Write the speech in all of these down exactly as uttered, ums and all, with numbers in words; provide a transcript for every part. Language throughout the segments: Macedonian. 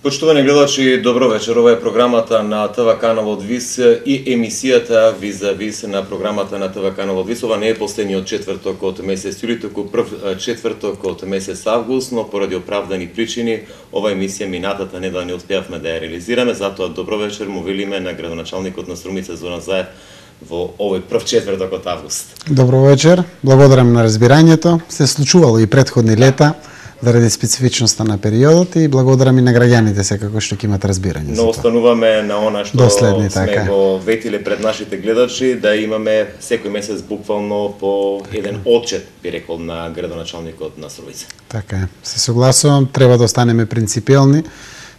Почитувани гледачи, добро вечер. Ова е програмата на ТВ Канал од Вис и емисијата Вис за Вис на програмата на ТВ Канал од Вис. Ова не е последниот четврток од месец јули, туку прв четврток од месец август, но поради оправдани причини ова емисија минатата недела не успеавме да ја реализираме, затоа добро вечер му велиме на градоначалникот на Струмица Зоран Заев во овој прв четврток од август. Добро вечер, благодарам на разбирањето. Се случувало и претходни лета заради специфичноста на периодот и благодарам и на граѓаните секако што ќе имат разбирање. Но остануваме на она што Доследни, сме така. го ветиле пред нашите гледачи, да имаме секој месец буквално по еден отчет, би рекол, на градоначалникот на Струмица. Така е. Се согласувам, треба да останеме принципиелни.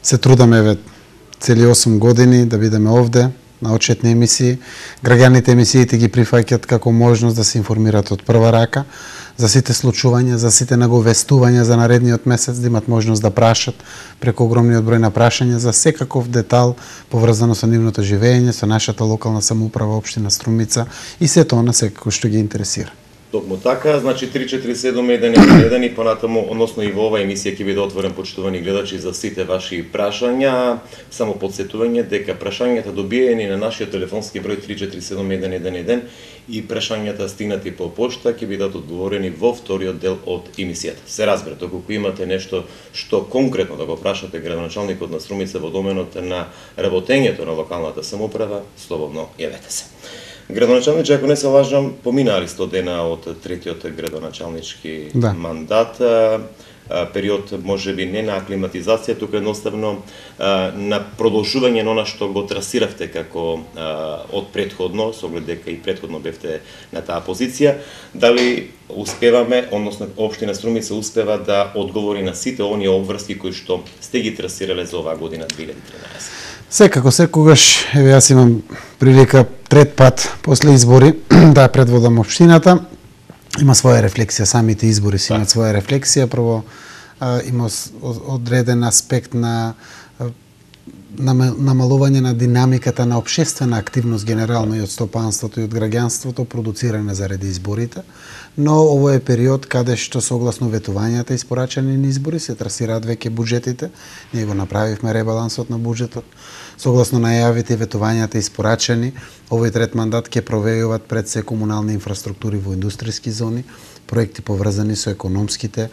Се трудаме ве цели осум години да бидеме овде на отчетни емисии. Граѓаните емисиите ги прифаќаат како можност да се информираат од прва рака за сите случувања, за сите наговестувања за наредниот месец, да имат можност да прашат преку огромниот број на прашања за секаков детал поврзано со нивното живење, со нашата локална самоуправа, општина Струмица и сето она секако што ги интересира. Токму така, значи три четири седум еден еден еден и понатаму, односно и во оваа емисија ќе биде отворен, почитувани гледачи, за сите ваши прашања. Само подсетување дека прашањата добиени на нашиот телефонски број три четири седум еден еден еден и прашањата стигнати по пошта ќе бидат одговорени во вториот дел од емисијата. Се разбира, доколку имате нешто што конкретно да го прашате градоначалникот на Струмица во доменот на работењето на локалната самоуправа, слободно јавете се. Градоначалниче, ако не се лажам, поминали сто дена од третиот градоначалнички да. мандат, период можеби не на аклиматизација, туку едноставно на продолжување на она што го трасиравте како од претходно, со оглед дека и претходно бевте на таа позиција. Дали успеваме, односно општина Струмица успева да одговори на сите оние обврски кои што сте ги трасирале за оваа година две илјади и тринаесетта? Секако, секогаш, еве јас имам прилика трет пат после избори да предводам општината. Има своја рефлексија, самите избори си имаат своја рефлексија. Прво, а, има одреден аспект на намалување на динамиката на општествена активност генерално и од стопанството и од граѓанството продуциране заради изборите, но ово е период каде што согласно ветувањата испорачани на избори се трасираат веќе буџетите. Ние го направивме ребалансот на буџетот. Согласно најавите и ветувањата испорачани, овој трет мандат ќе провејуваат пред се комунални инфраструктури во индустријски зони, проекти поврзани со економските е,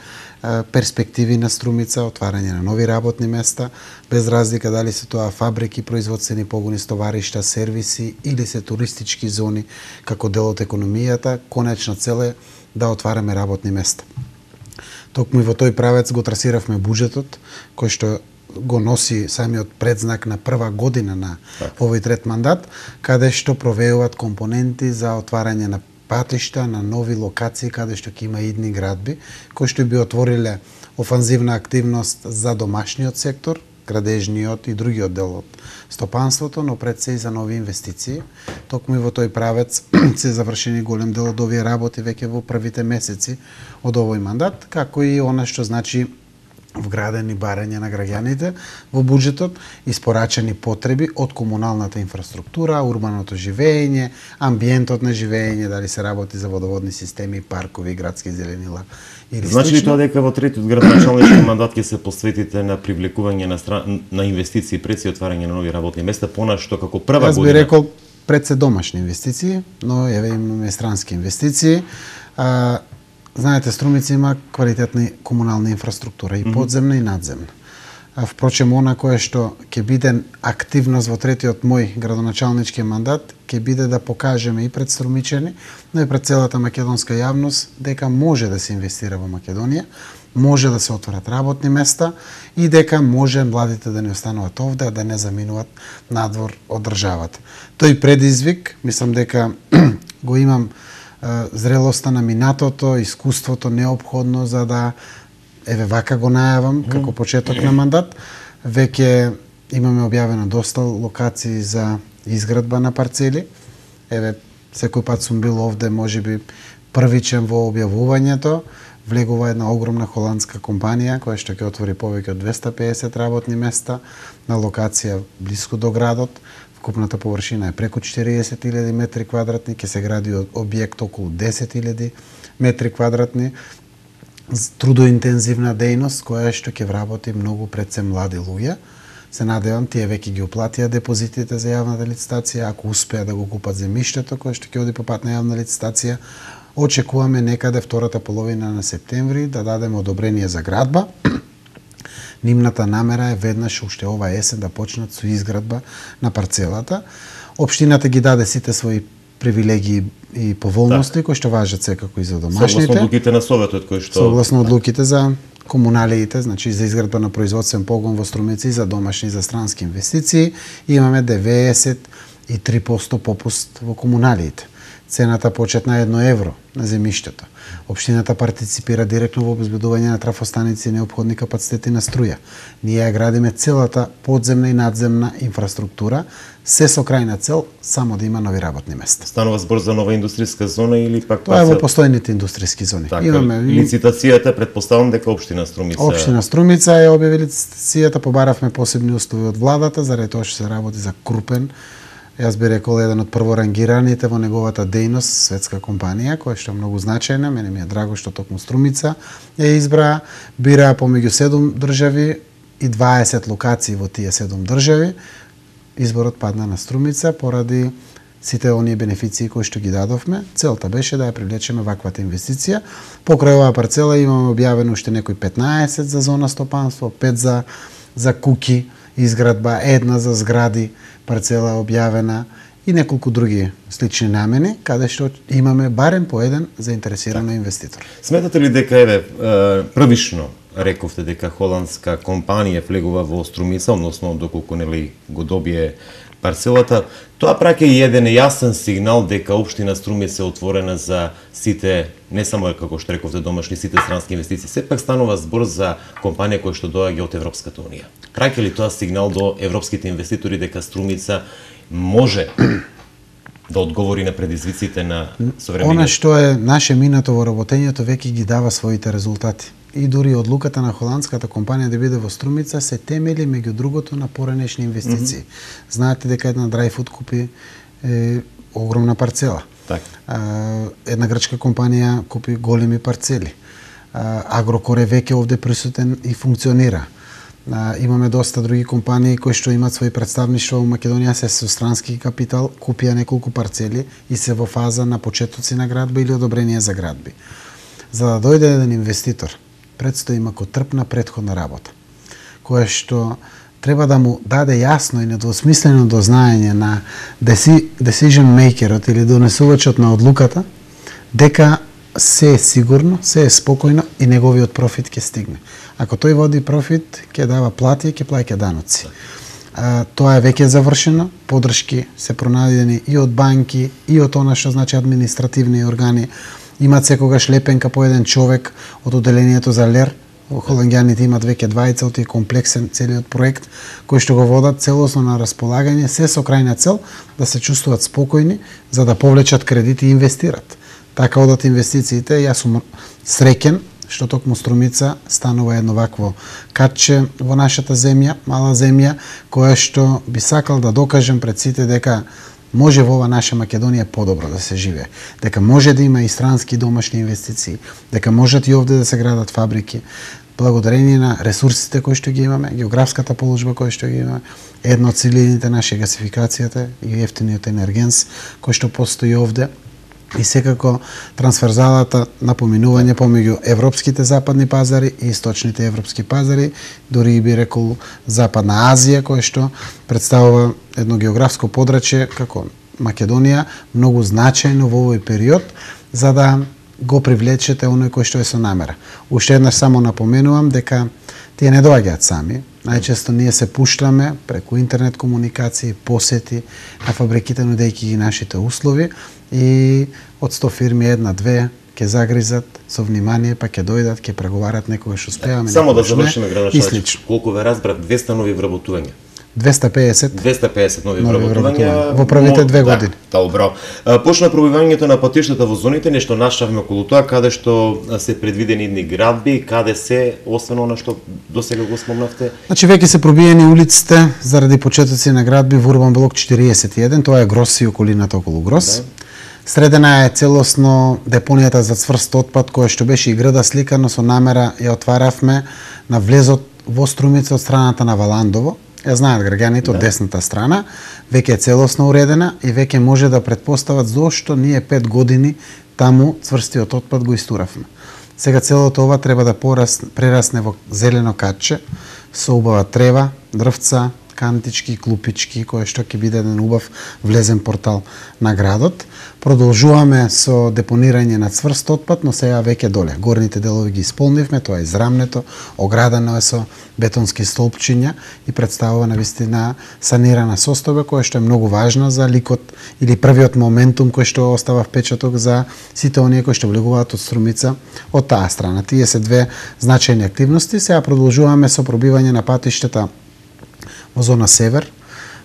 перспективи на Струмица, отварање на нови работни места, без разлика дали се тоа фабрики, производствени погони, стоваришта, сервиси или се туристички зони како дел од економијата, конечна цел е да отвараме работни места. Токму и во тој правец го трасиравме буџетот, кој што го носи самиот предзнак на прва година на овој трет мандат, каде што провејуваат компоненти за отварање на патишта, на нови локации каде што ќе има идни градби, кои што би отвориле офанзивна активност за домашниот сектор, градежниот и другиот дел од стопанството, но пред се и за нови инвестиции. Токму и во тој правец се завршени голем дел од овие работи веќе во првите месеци од овој мандат, како и она што значи вградени барања на граѓаните во буџетот, испорачани потреби од комуналната инфраструктура, урбаното живење, амбиентот на живење, дали се работи за водоводни системи, паркови, градски зеленила или значи ли тоа дека во третиот градоначалнички мандат ќе се посветите на привлекување на стран... на инвестиции пред се отварање на нови работни места, понашто како прва Јас година? би рекол пред се домашни инвестиции, но еве имаме странски инвестиции. А, Знаете, Струмица има квалитетна комунална инфраструктура, и подземна и надземна. А, впрочем, она кое што ќе биде активност во третиот мој градоначалнички мандат, ќе биде да покажеме и пред струмичани, но и пред целата македонска јавност дека може да се инвестира во Македонија, може да се отворат работни места и дека може младите да не остануваат овде, а да не заминуваат надвор од државата. Тој предизвик, мислам дека го имам зрелоста на минатото, искуството неопходно за да, еве вака го најавам, како почеток на мандат. Веќе имаме објавено доста локации за изградба на парцели. Еве, секој пат сум бил овде, можеби првичен во објавувањето. Влегува една огромна холандска компанија која што ќе отвори повеќе од двесте и педесет работни места на локација блиску до градот. Вкупната површина е преку четириесет илјади метри квадратни, ќе се гради објект околу десет илјади метри квадратни. Трудоинтензивна дејност која што ќе вработи многу пред се млади луѓе. Се надевам тие веќе ги уплатија депозитите за јавната licitaција, ако успеа да го купат земјиштето кое што ќе оди по пат на јавна licitaција. Очекуваме некаде втората половина на септември да дадеме одобрение за градба. Нивната намера е веднаш уште ова есен да почнат со изградба на парцелата. Општината ги даде сите своји привилегии и поволности кои што важат секако и за домашните. Согласно одлуките на Советот кои што Согласно одлуките за комуналиите, значи за изградба на производствен погон во Струмица и за домашни и за странски инвестиции, имаме деветдесет и три проценти попуст во комуналиите. Цената почетна е едно евро на земјиштето. Општината партиципира директно во обезбедување на трафостаници и неопходни капацитети на струја. Ние ја градиме целата подземна и надземна инфраструктура, се со крајна цел само да има нови работни места. Станува збор за нова индустријска зона или пак Тоа е во постојните индустријски зони. Така, имаме лицитацијата, претпоставам дека општина Струмица. Општина Струмица ја објави лицитацијата, побаравме посебни услови од владата заради тоа што се работи за крупен, јас би рекол еден од прворангираните во неговата дејност светска компанија, која што е многу значајна. Мене ми е драго што токму Струмица ја избра, бира помеѓу седум држави и дваесет локации во тие седум држави. Изборот падна на Струмица поради сите оние бенефиции кои што ги дадовме. Целта беше да ја привлечеме ваквата инвестиција. Покрај оваа парцела имаме објавено уште некои петнаесет за зона стопанство, пет за за куки изградба, една за згради, парцела објавена и неколку други слични намени, каде што имаме барем по еден заинтересиран инвеститор. Сметате ли дека еве првично рековте дека холандска компанија влегува во Струмица, односно доколку нели го добие парцелата, тоа праќа и еден јасен сигнал дека општина Струмица е отворена за сите, не само како што рековте домашни, сите странски инвестиции. Сепак станува збор за компанија која што доаѓа од Европската унија. Праќа ли тоа сигнал до европските инвеститори дека Струмица може да одговори на предизвиците на современиот? Она што е наше минато во работењето веќе ги дава своите резултати. И дури одлуката на холандската компанија да биде во Струмица се темели меѓу другото на поранешни инвестиции. Mm -hmm. Знаете дека една Dryfood купи е, огромна парцела. Так. А, една грчка компанија купи големи парцели. А, Агрокор е веќе овде присутен и функционира. А, имаме доста други компании кои што имаат своји представништва во Македонија, се со странски капитал, купија неколку парцели и се во фаза на почетоци на градби или одобрение за градби. За да дојде еден инвеститор, предстои макотрпна претходна работа, која што треба да му даде јасно и недвосмислено дознаење на decision makerот или донесувачот на одлуката дека се е сигурно, се е спокојно и неговиот профит ќе стигне. Ако тој води профит, ќе дава плати и ќе плаќа даноци. А, тоа е веќе завршено, подршки се пронајдени и од банки, и од она што значи административни органи. Имат секогаш лепенка по еден човек од одделението за ЛЕР. Холанѓаните имат веќе двајца од тие комплексен целиот проект, кој што го водат целосно на располагање, се со крајна цел да се чувствуваат спокојни за да повлечат кредити и инвестират. Така одат инвестициите, јас сум среќен што токму Струмица станува едно вакво катче во нашата земја, мала земја, која што би сакал да докажем пред сите дека може во ова наша Македонија подобро да се живее, дека може да има и странски домашни инвестиции, дека можат и овде да се градат фабрики, благодарение на ресурсите кои што ги имаме, географската положба која што ги имаме, едно од целините наши гасификацијата и ефтиниот енергенс кој што постои овде, и секако трансферзалата на поминување помеѓу европските западни пазари и источните европски пазари, дури би рекол Западна Азија, која што представува едно географско подрачје како Македонија, многу значајно во овој период, за да го привлечете оној кој што е со намера. Уште еднаш само напоменувам дека тие не доаѓаат сами. Најчесто ние се пуштаме преку интернет комуникации, посети на фабриките, нудејќи ги нашите услови, и од сто фирми една-две ќе загризат со внимание, па ќе дојдат, ќе преговарат, некогаш успеаме. Само да завршиме, градачевич. Колку ве разбрав, двеста нови вработувања. двеста пеесет двеста пеесет нови вработувања во првите две години. Да, добро. Почна пробивањето на патиштата во зоните, нешто нашавме околу тоа, каде што се предвидени идни градби, каде се, освен она што досега го спомнавте. Значи веќе се пробиени улиците заради почетоци на градби во Урбан блок четириесет и еден, тоа е Грос и околината околу Грос. Да. Средена е целосно депонијата за цврст отпад, која што беше и града сликано со намера ја отваравме на влезот во Струмица од страната на Валандово, ја знаат граѓаните од Да. десната страна, веќе е целосно уредена и веќе може да претпостават зошто ние пет години таму цврстиот отпад го истуравме. Сега целото ова треба да порас, прерасне во зелено катче со убава трева, дрвца, кантички, клупички, кој што ќе биде еден убав влезен портал на градот. Продолжуваме со депонирање на цврст отпад, но сега веќе доле. Горните делови ги исполнивме, тоа е израмнето, оградано е со бетонски столпчиња и представува навистина санирана состојба која што е многу важна за ликот или првиот моментум кој што остава впечаток за сите оние кои што влегуваат од Струмица од таа страна. Тие се две значајни активности. Сега продолжуваме со пробивање на патиштата во зона Север,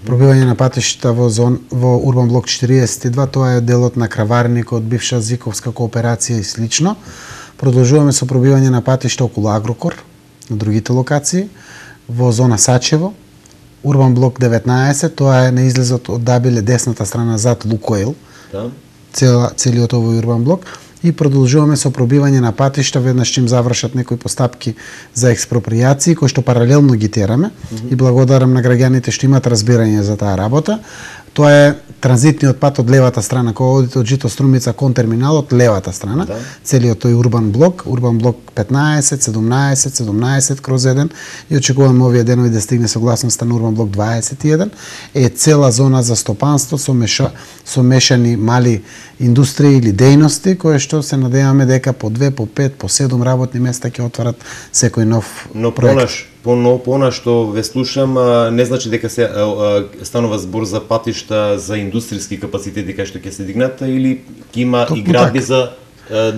пробивање на патиштата во зон во Урбан блок четириесет и два, тоа е делот на Краварникот, бивша Зиковска кооперација и слично. Продолжуваме со пробивање на патишта околу Агрокор, на другите локации, во зона Сачево, Урбан блок деветнаесет, тоа е на излезот од Дабиле, десната страна зад Лукоил, Да. цела, целиот овој Урбан блок. И продолжуваме со пробивање на патишта веднаш чим завршат некои постапки за експропријации кои што паралелно ги тераме mm -hmm. и благодарам на граѓаните што имаат разбирање за таа работа. Тоа е транзитниот пат од левата страна, кој одите од Жито Струмица кон терминалот, левата страна, Да. целиот тој урбан блок, урбан блок петнаесет, седумнаесет, седумнаесет кроз еден и очекуваме овие денови да стигне согласноста на урбан блок дваесет и еден, е цела зона за стопанство со меша, со мешани мали индустрии или дејности кои што се надеваме дека по две, по пет, по седум работни места ќе отварат секој нов Но проект. понаш, поно, пона што ве слушам, а, не значи дека се а, а, станува збор за патишта за индустријски капацитети кај што ќе се дигнат или ќе има Токму и градби така. за а,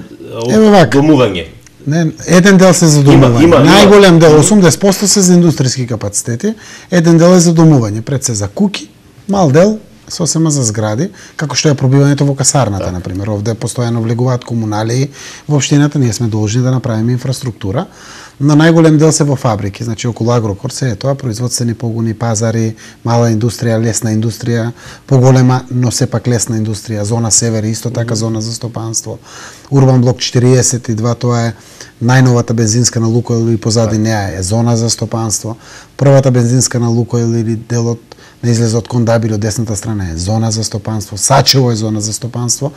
Ево од вака. домување. Не, еден дел се за домување. Има- има- Најголем дел, има- осумдесет проценти се за индустријски капацитети, еден дел е за домување, пред се за куки, мал дел сосема за згради, како што е пробивањето во касарната, Так. например. Овде постојано влегуваат комуналии во општината, ние сме должни да направиме инфраструктура, но најголем дел се во фабрики, значи околу Агрокор се е тоа, производствени погони, пазари, мала индустрија, лесна индустрија, поголема, но сепак лесна индустрија, зона Север исто така зона за стопанство. Урбан блок четириесет и два, тоа е најновата бензинска на Лукойл и позади неа е зона за стопанство. Првата бензинска на Лукойл или делот на излезот кон Дабиле од десната страна е зона за стопанство, Сачево е зона за стопанство,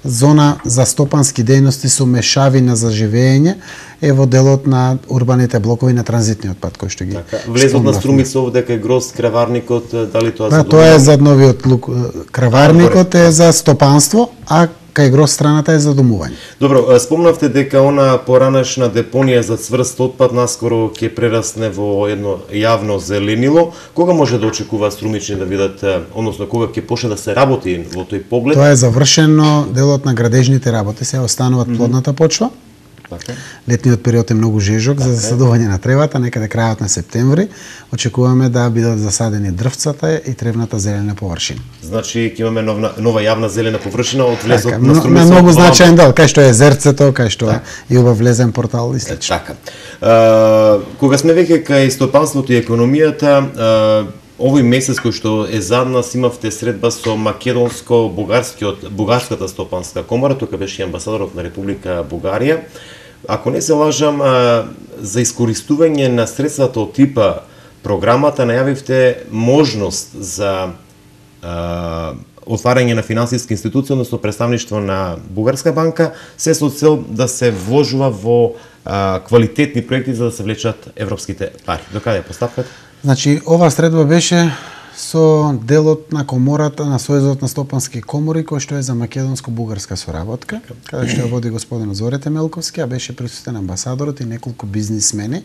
зона за стопански дејности со мешавина за живење е во делот на урбаните блокови на транзитниот пат кој што ги Така, влезот на спомнавме. Струмица овде дека е Гроз Краварникот, дали тоа Да, за тоа е домување? за новиот лук, краварникот е за стопанство, а кај гроз страната е за домување. Добро, а, спомнавте дека она поранешна депонија за цврст отпад наскоро ќе прерасне во едно јавно зеленило. Кога може да очекува струмични да видат, а, односно кога ќе почне да се работи во тој поглед? Тоа е завршено, делот на градежните работи, се остануваат плодната почва. Така. Летниот период е многу жежок за засадување на тревата, некаде крајот на септември. Очекуваме да бидат засадени дрвцата и тревната зелена површина. Значи ќе имаме нова, нова јавна зелена површина од влезот Така, на на, Струмица. на многу од Валам. значаен дел, кај што е езерцето, кај што е и убав влезен портал и слично. Така. А, кога сме веќе кај стопанството и економијата, а, овој месец кој што е зад нас имавте средба со македонско-бугарскиот бугарската стопанска комора, тука беше и амбасадорот на Република Бугарија. Ако не се лажам, а, за искористување на средствата од типа програмата најавивте можност за а, отварање на финансиска институција, односно представништво на Бугарска банка, се со цел да се вложува во а, квалитетни проекти за да се влечат европските пари. До каде е поставката? Значи, ова средба беше со делот на комората на Сојузот на стопански комори, кој што е за македонско-бугарска соработка, каде што ја води господин Зорете Мелковски, а беше присутен амбасадорот и неколку бизнисмени,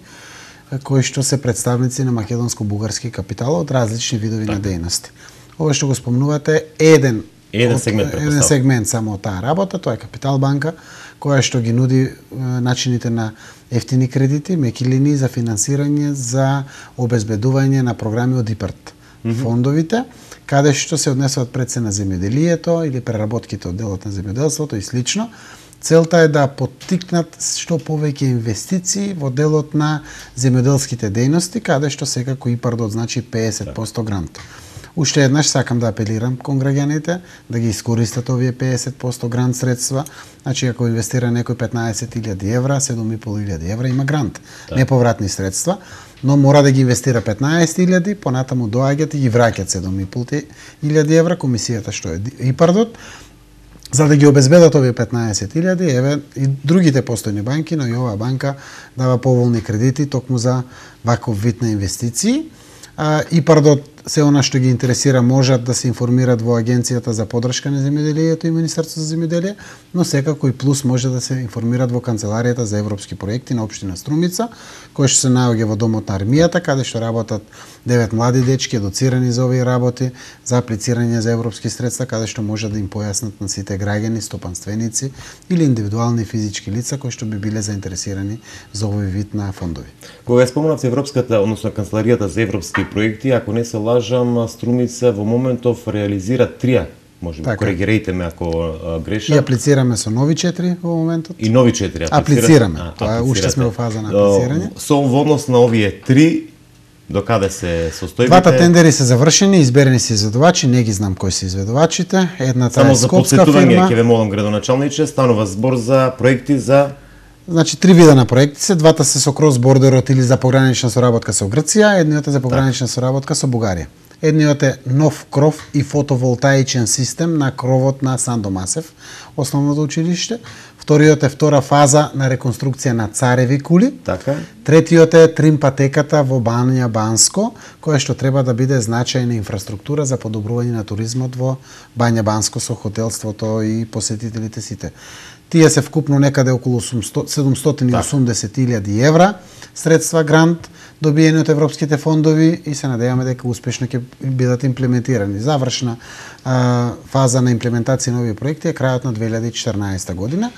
кои што се представници на македонско-бугарски капитал од различни видови на дејности. Ова што го спомнувате е еден Еден од- сегмент, еден претпоставам. сегмент само од таа работа, тоа е Капитал банка, која што ги нуди е, начините на ефтини кредити, меки линии за финансирање за обезбедување на програми од ИПАРТ. Фондовите, каде што се однесуваат пред се на земјоделието или преработките од делот на земјоделството и слично. Целта е да поттикнат што повеќе инвестиции во делот на земјоделските дејности, каде што секако ИПАРД значи педесет проценти грант. Уште еднаш сакам да апелирам кон граѓаните да ги искористат овие педесет проценти грант средства. Значи ако инвестира некој петнаесет илјади евра, седум и пол илјади евра има грант, да. Неповратни средства, но мора да ги инвестира петнаесет илјади, понатаму доаѓаат и ги враќаат седум и пол илјади евра комисијата што е ИПАРДот, за да ги обезбедат овие петнаесет илјади, еве и другите постојни банки, но и оваа банка дава поволни кредити токму за ваков вид на инвестиции. ИПАРДот се она што ги интересира можат да се информират во Агенцијата за поддршка на земјоделието и Министерството за земјоделие, но секако и плюс може да се информират во Канцеларијата за европски проекти на општина Струмица, кој што се наоѓа во домот на армијата, каде што работат девет млади дечки едуцирани за овие работи, за аплицирање за европски средства, каде што може да им појаснат на сите граѓани, стопанственици или индивидуални физички лица кои што би биле заинтересирани за овој вид на фондови. Кога спомнавте Европската, односно Канцеларијата за европски проекти, ако не се лажам, Струмица во моментов реализира трија, може би, коригирајте ме ако а, грешам. И аплицираме со нови четири во моментот. И нови четири аплицираме. А, Тоа уште сме во фаза на аплицирање. Со во однос на овие три, до каде се состојбите? Двата тендери се завршени, изберени се изведувачи, не ги знам кои се изведувачите. Едната Само е скопска фирма. Само за потсетување, ќе ве молам градоначалниче, станува збор за проекти за... Значи, три вида на проекти се, двата се со крос-бордерот или за погранична соработка со Грција, едниот е за погранична так. соработка со Бугарија. Едниот е нов кров и фотоволтаичен систем на кровот на Сандо Масев, основното училиште. Вториот е втора фаза на реконструкција на цареви кули. Така. Третиот е тримпатеката во Бања Банско, која што треба да биде значајна инфраструктура за подобрување на туризмот во Бања Банско со хотелството и посетителите сите. Тие се вкупно некаде околу седумстотини и осумдесет илјади евра средства грант добиени од европските фондови и се надеваме дека успешно ќе бидат имплементирани. Завршна а, фаза на имплементација на овие проекти е крајот на две илјади и четрнаесета година.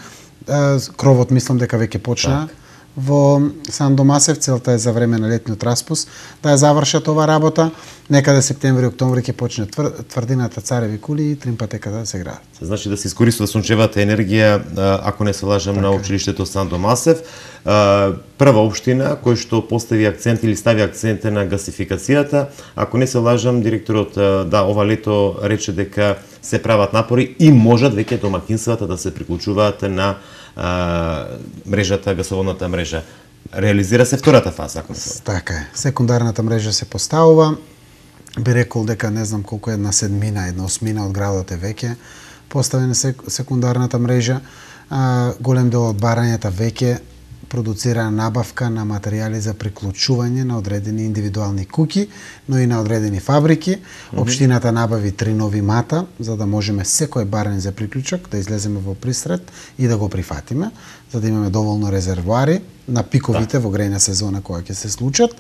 А, кровот мислам дека веќе почна так. Во Сандо Масев, целта е за време на летниот распуст да ја завршат ова работа. Некаде септември-октомври ќе почне твр, тврдината цареви кули и тримпатеката да се градат. Значи да се искористува сончевата енергија, ако не се лажам, така. На училиштето Сандо Масев. Прва општина кој што постави акцент или стави акцент на гасификацијата. Ако не се лажам, директорот да ова лето рече дека се прават напори и можат веќе домакинствата да се приклучуваат на а, мрежата, гасоводната мрежа. Реализира се втората фаза, ако не се. Така е. Секундарната мрежа се поставува. Би рекол дека не знам колку една седмина, една осмина од градот е веќе поставена секундарната мрежа. А, голем дел од барањата веќе продуцира набавка на материјали за приклучување на одредени индивидуални куќи, но и на одредени фабрики. Mm-hmm. Општината набави три нови мата, за да можеме секој барање за приклучок да излеземе во пристрет и да го прифатиме, за да имаме доволно резервоари на пиковите да. Во грејна сезона која ќе се случат.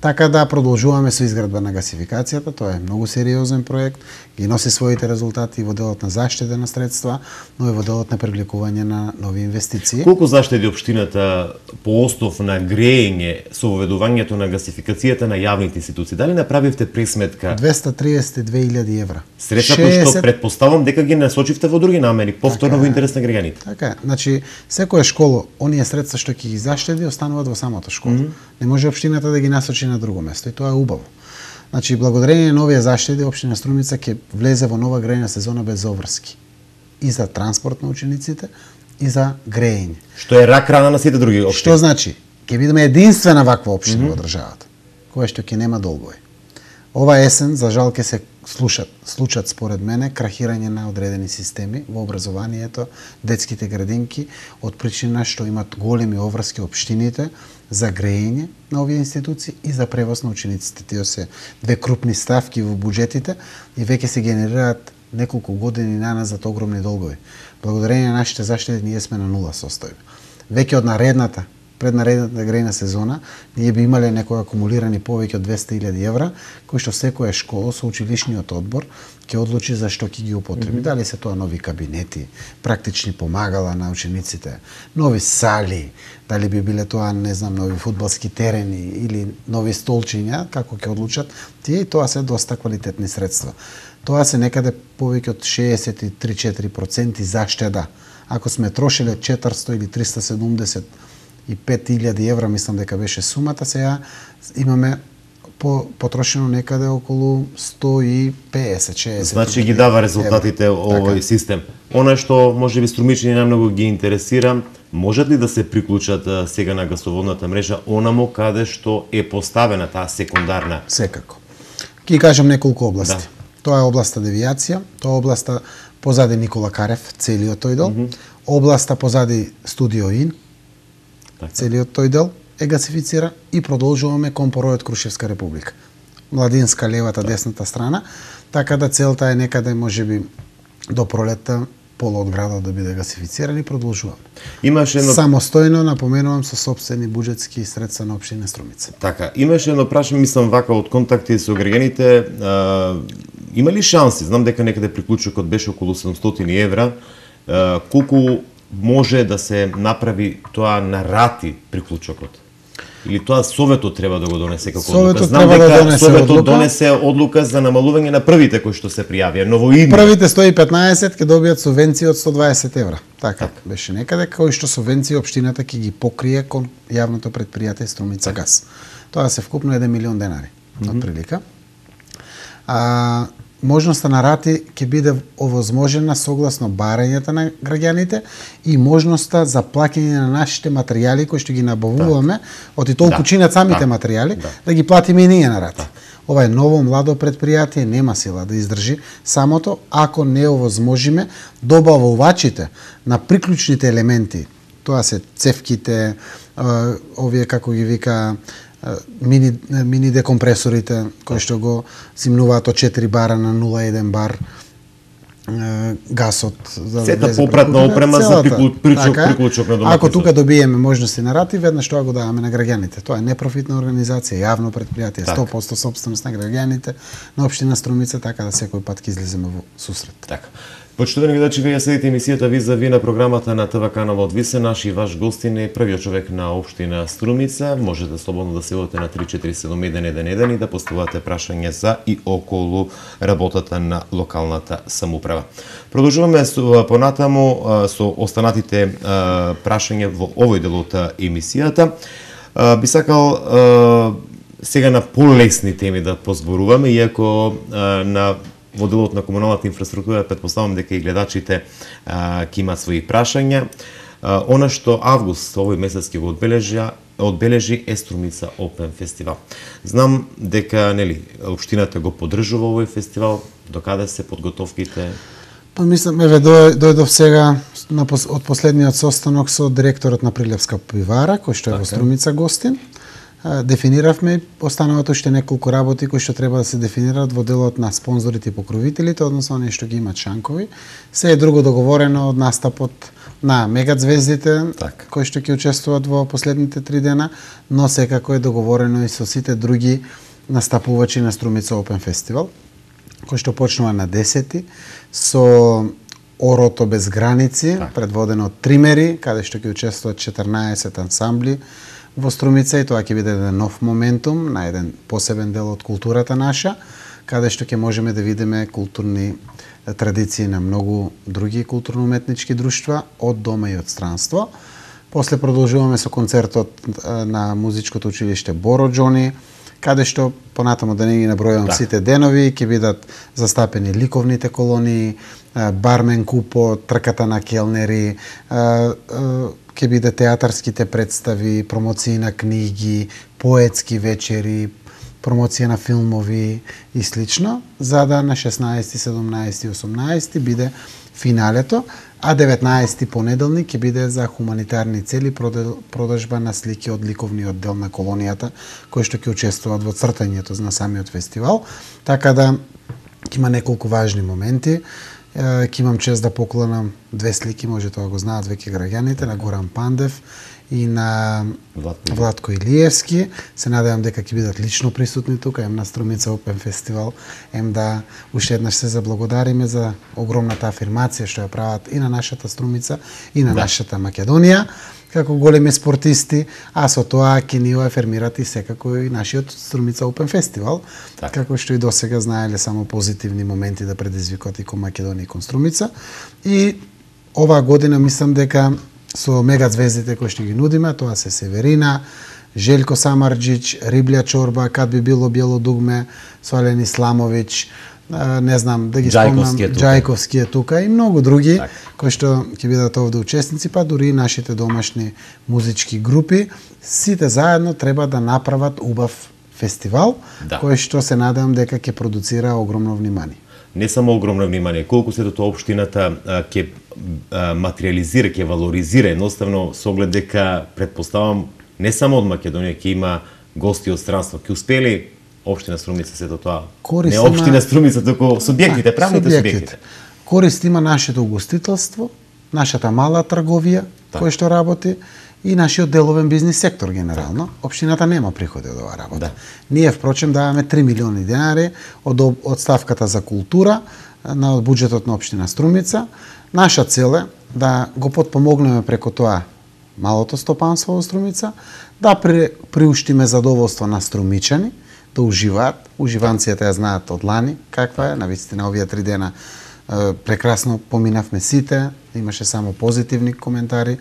Така да продолжуваме со изградба на гасификацијата, тоа е многу сериозен проект, ги носи своите резултати и во делот на заштеда на средства, но и во делот на привлекување на нови инвестиции. Колку заштеди општината по основ на грејење со воведувањето на гасификацијата на јавните институции? Дали направивте пресметка? двесте триесет и две илјади евра. Средства кои што предпоставам дека ги насочивте во други намери, повторно така, во интерес на граѓаните. Така, значи секоја школа, оние средства што ќе ги заштеди остануваат во самата школа. Mm -hmm. Не може општината да ги насочи на друго место и тоа е убаво. Значи, благодарение на овие заштеди, општина Струмица ќе влезе во нова грејна сезона без обврски. И за транспорт на учениците, и за грејење. Што е рак рана на сите други општини. Што значи? Ќе бидеме единствена ваква општина mm -hmm. во државата, која што ќе нема долгови. Ова есен, за жал, ќе се слушат, случат според мене крахирање на одредени системи во образованието, детските градинки, од причина што имат големи обврски општините за грејење на овие институции и за превоз на учениците. Тие се две крупни ставки во буџетите и веќе се генерираат неколку години наназад огромни долгови. Благодарение на нашите заштеди ние сме на нула состојба. Веќе од наредната преднаредната грејна сезона, ние би имале некои акумулирани повеќе од двесте илјади евра, кои што секоја школа со училишниот одбор ќе одлучи за што ќе ги употреби. Mm -hmm. Дали се тоа нови кабинети, практични помагала на учениците, нови сали, дали би биле тоа, не знам, нови фудбалски терени или нови столчиња, како ќе одлучат, тие и тоа се доста квалитетни средства. Тоа се некаде повеќе од шеесет и три до четири проценти заштеда. Ако сме трошеле четиристо или триста седумдесет и пет илјади евра, мислам дека беше сумата, сега имаме по, потрошено некаде околу сто и песет шеесет. Значи ги дава резултатите евро. Овој така. Систем. Она што може би струмичани најмногу ги интересира, можат ли да се приклучат сега на гасоводната мрежа онамо каде што е поставена таа секундарна? Секако. Ќе кажам неколку области. Да. Тоа е областа девијација, тоа е областа позади Никола Карев, целиот тој дел, mm -hmm. областа позади Студио Ин, така. Целиот тој дел е гасифицира и продолжуваме кон поројот Крушевска република. Младинска, левата, да. Десната страна, така да целта е некаде можеби до пролетта пола од градот да биде гасифициран и продолжуваме. Имаше едно... Самостојно, напоменувам, со сопствени буџетски средства на општина Струмица. Така, имаше едно прашање, мислам вака од контакти со граѓаните, има ли шанси, знам дека некаде приклучокот беше околу седумстотини евра, а, колку може да се направи тоа на рати приклучокот? Или тоа Советот треба да го донесе како одлука? Знам дека да донесе Советот одлука. донесе одлука за намалување на првите кои што се пријавија, новоидни. Првите сто и петнаесет ќе добијат субвенција од сто дваесет евра. Така, так. Беше некаде кои што субвенции општината ќе ги покрие кон јавното претпријатие Струмица газ. Тоа се вкупно еден милион денари, mm -hmm. од прилика. А, можноста на рати ќе биде овозможена согласно барањата на граѓаните и можноста за плаќање на нашите материјали кои што ги набавуваме, так. Од и толку да. Чинат самите да. Материјали, да. Да ги платиме и ние на рати. Да. Ова е ново младо предпријатие, нема сила да издржи самото ако не овозможиме добавувачите на приклучните елементи, тоа се цевките, овие како ги вика мини мини декомпресорите кои што го зимнуваат од четири бара на нула и еден бар гасот за сета попратна опрема за приклучок приклучок на домакинството. Ако тука добиеме можности на рати, веднаш тоа го даваме на граѓаните. Тоа е непрофитна организација, јавно претпријатие, сто проценти сопственост на граѓаните на општина Струмица, така да секој пат ќе излеземе во сусрет. Така. Почитувани гледачи, вие следите емисијата Визави на програмата на ТВ каналот Висе. Наш и ваш гостин е првиот човек на општина Струмица. Можете слободно да се јавите на три четири седум еден еден еден и да поставувате прашања за и околу работата на локалната самоуправа. Продолжуваме со, понатаму со останатите прашања во овој дел од емисијата. Би сакал сега на полесни теми да позборуваме, иако на во делот на комуналната инфраструктура претпоставам дека и гледачите ќе имаат своји прашања. А, она што август овој месец ќе го одбележи, одбележи е Струмица Опен фестивал. Знам дека нели општината го поддржува овој фестивал, докаде се подготовките? Па мислам, еве дојдов сега на, од последниот состанок со директорот на Прилепска пивара, кој што е така. Во Струмица гостин. Дефиниравме останават уште неколку работи кои што треба да се дефинираат во делот на спонзорите и покровителите, односно оние што ги имаат шанкови. Се е друго договорено од настапот на мегазвездите, так. Кои што ќе учествуваат во последните три дена, но секако е договорено и со сите други настапувачи на Струмица Опен фестивал, кој што почнува на десети со Орото без граници, так. Предводено од Тримери, каде што ќе учествуваат четрнаесет ансамбли во Струмица, и тоа ќе биде еден нов моментум на еден посебен дел од културата наша, каде што ќе можеме да видиме културни традиции на многу други културно-уметнички друштва од дома и од странство. После продолжуваме со концертот на музичкото училиште Боро Џони, каде што понатаму да не ги набројувам да. Сите денови, ќе бидат застапени ликовните колонии, бармен купо, трката на келнери, ќе биде театарските представи, промоции на книги, поетски вечери, промоција на филмови и слично, за да на шеснаесети, седумнаесети и осумнаесети биде финалето, а деветнаесети понеделник ќе биде за хуманитарни цели продажба на слики од ликовниот дел на колонијата, кои што ќе учествуваат во цртањето на самиот фестивал, така да ќе има неколку важни моменти. Ќе имам чест да поклонам две слики, може тоа го знаат веќе граѓаните, на Горан Пандев и на Владко, Владко Илиевски. Се надевам дека ќе бидат лично присутни тука, ем на Струмица Опен фестивал, ем да уште еднаш се заблагодариме за огромната афирмација што ја прават и на нашата Струмица и на да. Нашата Македонија како големи спортисти, а со тоа ќе ни афирмират и секако и нашиот Струмица Опен фестивал, так. Како што и досега знаеле само позитивни моменти да предизвикат и кон Македонија и кон Струмица. И оваа година мислам дека со мегазвездите кои што ги нудиме, тоа се Северина, Желко Самарџич, Риблја чорба, Кад би било бело дугме, Солен Исламович, не знам да ги спомнам, Џајковски е тука и многу други так, кои што ќе бидат овде учесници, па дури и нашите домашни музички групи, сите заедно треба да направат убав фестивал, да, кој што се надевам дека ќе продуцира огромно внимание. Не само огромно внимание, колку се тоа општината ќе материализира, ќе валоризира, едноставно со оглед дека предпоставам не само од Македонија ќе има гости од странство, ќе успели општина Струмица се до тоа. Корист не општина Струмица, току субјектите, правните субјектите. Корист има нашето угостителство, нашата мала трговија так, кој што работи и нашиот деловен бизнис сектор генерално. Так. Општината нема приходи од оваа работа. Да. Ние впрочем даваме три милиони денари од од ставката за култура на од буџетот на општина Струмица. Наша цел е да го потпомогнеме преку тоа малото стопанство во Струмица, да при, приуштиме задоволство на струмичани, да уживаат. Уживанцијата ја знаат од лани каква е, навистина овие три дена е, прекрасно поминавме сите, имаше само позитивни коментари,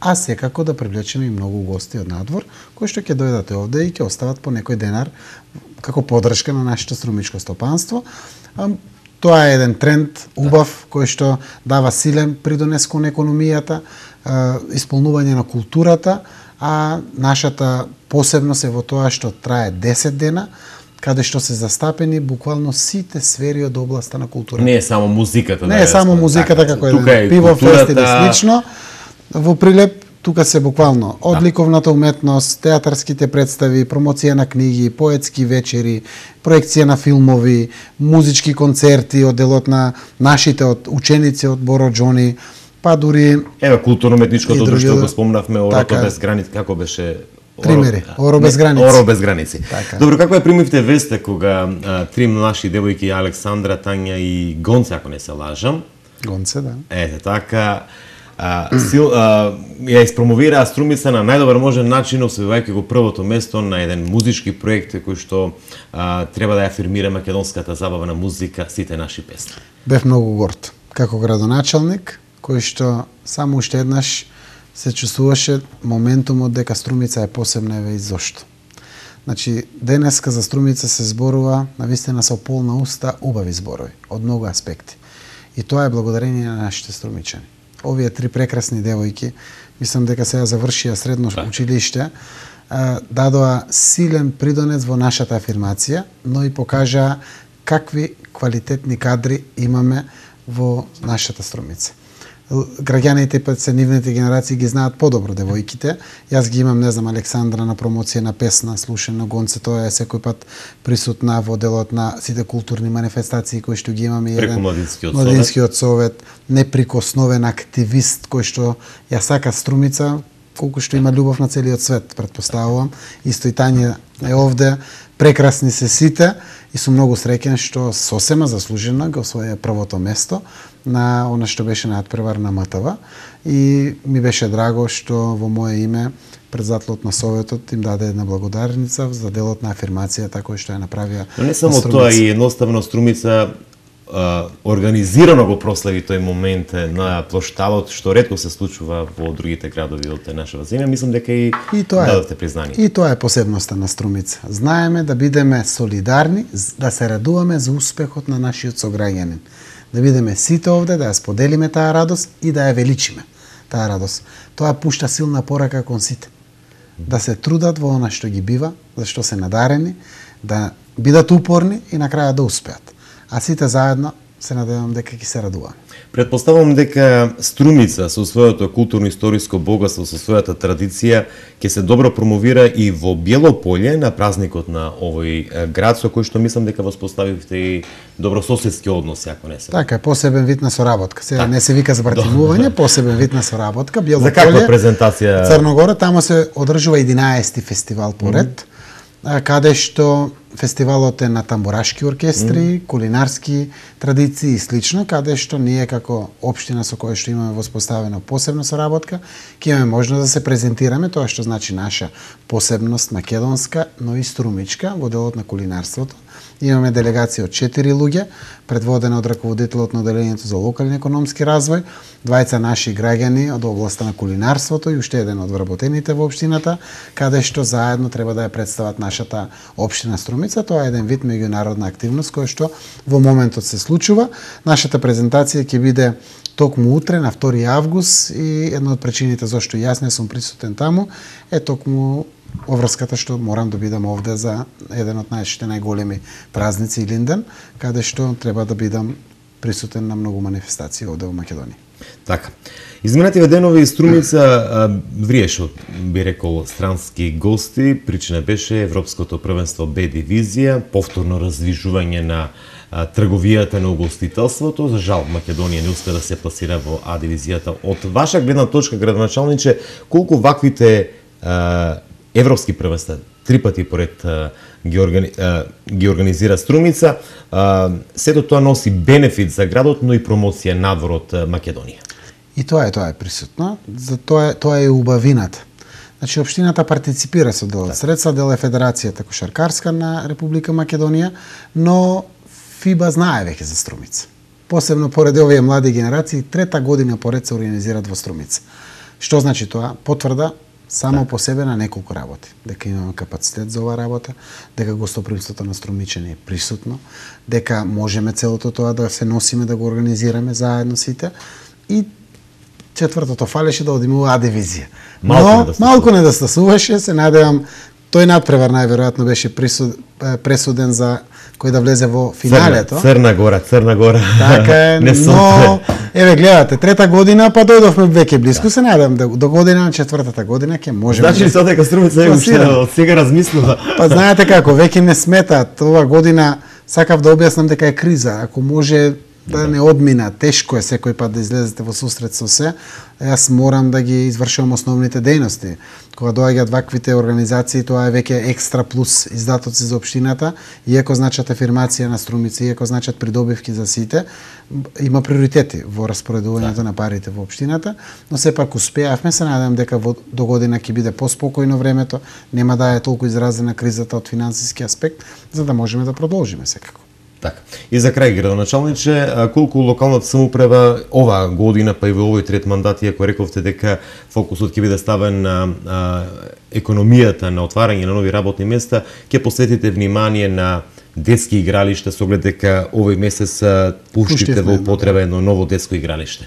а секако да привлечеме и многу гости од надвор, кои што ќе дојдат овде и ќе остават по некој денар како поддршка на нашето струмичко стопанство. Тоа е еден тренд убав кој што дава силен придонес кон економијата, исполнување на културата, а нашата посебност е во тоа што трае десет дена, каде што се застапени буквално сите сфери од областа на културата. Не е само музиката. Не да е само музиката како еден пиво фест или слично. Во Прилеп тука се буквално од да, ликовната уметност, театарските представи, промоција на книги, поетски вечери, проекција на филмови, музички концерти од делот на нашите од ученици од Боро Џони, па дури ева културно-уметничкото друштво го спомнавме, Орото без граници, како беше Примери, Оро без граници. Оро без граници. Така. Добро, како ја примивте веста кога а, три наши девојки, Александра, Тања и Гонце, ако не се лажам? Гонце, да. Ете, така, а, сил, а, ја испромовираа Струмица на најдобар можен начин, освојувајќи го првото место на еден музички проект кој што а, треба да ја афирмира македонската забавна музика, сите наши песни. Бев многу горд, како градоначалник, кој што само уште еднаш се чувствуваше моментумот дека Струмица е посебна, еве и зошто. Значи, денеска за Струмица се зборува навистина со полна уста убави зборови, од многу аспекти. И тоа е благодарение на нашите струмичани. Овие три прекрасни девојки, мислам дека сега завршија средно училиште, дадоа силен придонес во нашата афирмација, но и покажаа какви квалитетни кадри имаме во нашата Струмица. Граѓаните, пет се нивните генерации ги знаат подобро девојките. Јас ги имам, не знам, Александра на промоција на песна, слушана Гонце, тоа е секој пат присутна во делот на сите културни манифестации кои што ги имаме. Преку Младинскиот совет. Младинскиот совет, неприкосновен активист кој што ја сака Струмица, колку што има љубов на целиот свет, претпоставувам. Исто и Тања е овде, прекрасни се сите и сум многу среќен што сосема заслужено го освоја првото место на она што беше надпревар на МТВ и ми беше драго што во мое име председателот на Советот им даде една благодарница за делот на афирмацијата кој што ја направија. Но не само тоа, и едноставно Струмица а, организирано го прослави тој момент на плошталот, што ретко се случува во другите градови од нашава земја. Мислам дека и, и дадовте признание. И тоа е посебноста на Струмица. Знаеме да бидеме солидарни, да се радуваме за успехот на нашиот сограѓанин. Да бидеме сите овде, да ја споделиме таа радост и да ја величиме таа радост. Тоа пушта силна порака кон сите. Да се трудат во она што ги бива, зашто се надарени, да бидат упорни и на краја да успеат. А сите заедно се надевам дека ќе се радуваме. Предпоставам дека Струмица со своето културно-историско богатство, со својата традиција, ќе се добро промовира и во Белополје на празникот на овој град, со кој што мислам дека воспоставивте и добрососедски односи, ако не се. Така е, посебен вид на соработка. Сега так, не се вика збратимување, посебен вид на соработка. Белополје, за каква презентација? Црногора, таму се одржува единаесети фестивал поред, mm -hmm. каде што фестивалот е на тамбурашки оркестри, mm. кулинарски традиции и слично, каде што ние како општина со која што имаме воспоставена посебна соработка, ќе имаме можност да се презентираме, тоа што значи наша посебност македонска, но и струмичка во делот на кулинарството. Имаме делегација од четири луѓе, предводена од раководителот на Оделението за локален економски развој, двајца наши граѓани од областа на кулинарството и уште еден од вработените во општината, каде што заедно треба да ја представат нашата општина Струмица. Тоа е еден вид меѓународна активност која што во моментот се случува. Нашата презентација ќе биде токму утре на втори август и една од причините зашто јас не сум присутен таму е токму оврската што морам да бидам овде за еден од нашите најголеми празници Илинден, каде што треба да бидам присутен на многу манифестации овде во Македонија. Така. Изминативе денови Струмица вриеше, би рекол, странски гости. Причина беше Европското првенство Б дивизија, повторно раздвижување на трговијата на угостителството. За жал, Македонија не успе да се пласира во А дивизијата. Од ваша гледна точка, градоначалниче, колку ваквите а, европски првенства, три пати поред а, ги, органи, а, ги организира Струмица, а, сето тоа носи бенефит за градот, но и промоција надвор од Македонија. И тоа е, тоа е присутно. За тоа е, тоа е убавината. Значи, општината партиципира со дел од средства, дел е Федерацијата кошаркарска на Република Македонија, но ФИБА знае веќе за Струмица. Посебно поради овие млади генерации, трета година поред се организираат во Струмица. Што значи тоа? Потврда само по себе на неколку работи. Дека имаме капацитет за оваа работа, дека гостопримството на струмичани е присутно, дека можеме целото тоа да се носиме, да го организираме заедно сите. И четвртото фалеше да одиме во А дивизија. Но малку недостасуваше, се надевам тој надпревар најверојатно беше присуд, пресуден за кој да влезе во финалето. Црна, Црна Гора, Црна Гора. Така е, но еве гледате, трета година па дојдовме веќе блиску, да. Се надевам да до година на четвртата година ќе можеме. Значи да... дека Струмица е уште од сега размислува. Па знаете како, веќе не сметаат. Ова година сакав да објаснам дека е криза, ако може да не одмина, тешко е секој пат да излезете во сусрет со се. Јас морам да ги извршувам основните дејности. Кога доаѓаат ваквите организации, тоа е веќе екстра плюс издатоци за општината, иако значат афирмација на Струмица, иако значат придобивки за сите, има приоритети во распоредувањето да. На парите во општината, но сепак успеавме, се надевам дека во до година ќе биде поспокојно времето, нема да е толку изразена кризата од финансиски аспект, за да можеме да продолжиме секако. Така. И за крај, градоначалниче, колку локалната самоуправа оваа година, па и во овој трет мандат, иако рековте дека фокусот ќе биде ставен на а, економијата, на отварање на нови работни места, ќе посветите внимание на детски игралишта, со оглед дека овој месец пуштите во употреба едно ново детско игралиште?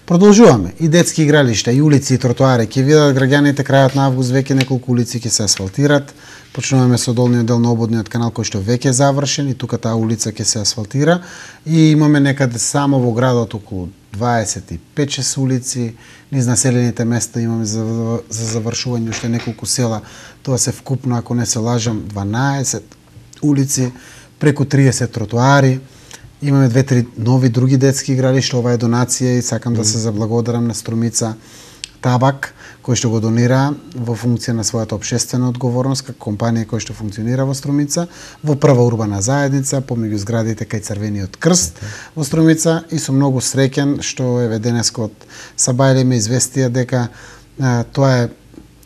Продолжуваме. И детски игралишта, и улици, и тротоари. Ќе видат граѓаните крајот на август веќе неколку улици ќе се асфалтират. Почнуваме со долниот дел на ободниот канал кој што веќе е завршен и тука таа улица ќе се асфалтира. И имаме некаде само во градот околу дваесет и пет шест улици. Низ населените места имаме за, за завршување уште неколку села. Тоа се вкупно, ако не се лажам, дванаесет улици, преку триесет тротоари. Имаме две-три нови други детски игралишта. Ова е донација и сакам mm. да се заблагодарам на Струмица Табак, кој што го донира во функција на својата општествена одговорност, како компанија која што функционира во Струмица, во прва урбана заедница, помеѓу зградите кај Црвениот крст okay. во Струмица, и сум многу среќен што еве денеска од Сабајле ме известија дека а, тоа е,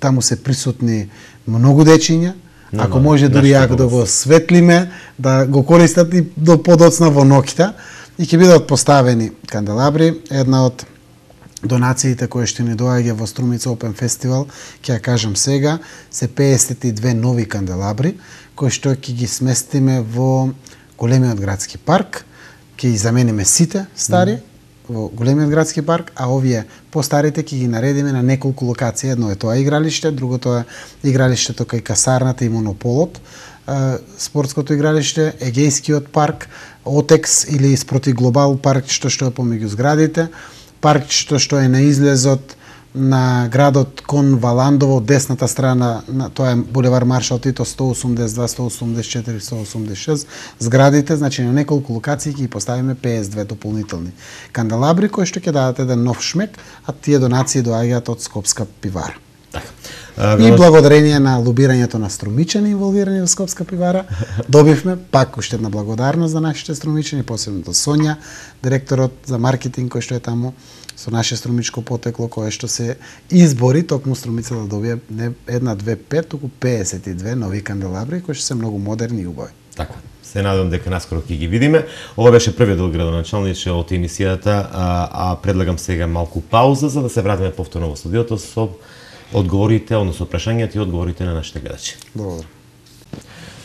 таму се присутни многу дечиња. Ако може дури ако да го светлиме, да го користат и до подоцна во ноќта, и ќе бидат поставени канделабри. Една од донациите кои што ни доаѓа во Струмица Open Festival, ќе ја кажам сега, се пеесет и две нови канделабри, кои што ќе ги сместиме во големиот градски парк, ќе ги замениме сите стари, mm. во големиот градски парк, а овие постарите ќе ги наредиме на неколку локации. Едно е тоа игралиште, другото е игралиштето кај касарната и монополот, спортското игралиште, Егејскиот парк, Отекс или спроти Глобал парк, што што е помеѓу зградите, парк што што е на излезот на градот кон Валандово, десната страна, на, тоа е булевар Маршал Тито, сто осумдесет и два, сто осумдесет и четири, сто осумдесет и шест, зградите, значи на неколку локации ќе ги поставиме пеесет и две дополнителни канделабри, кои што ќе дадат еден нов шмек, а тие донации доаѓаат од Скопска пивара. Така. И благодарение на лобирањето на струмичани инволвирани во Скопска пивара, добивме пак уште една благодарност за нашите струмичани, посебно до Сонја, директорот за маркетинг кој што е таму со наше струмичко потекло, кое што се избори токму Струмица да добие не една, две, пет, туку пеесет и две нови канделабри кои што се многу модерни и убави. Така. се надевам дека наскоро ќе ги видиме. Ова беше првиот дел, градоначалниче, од емисијата, а, а предлагам сега малку пауза за да се вратиме повторно во студиото со одговорите, односно прашањата и одговорите на нашите гледачи. Благодарам.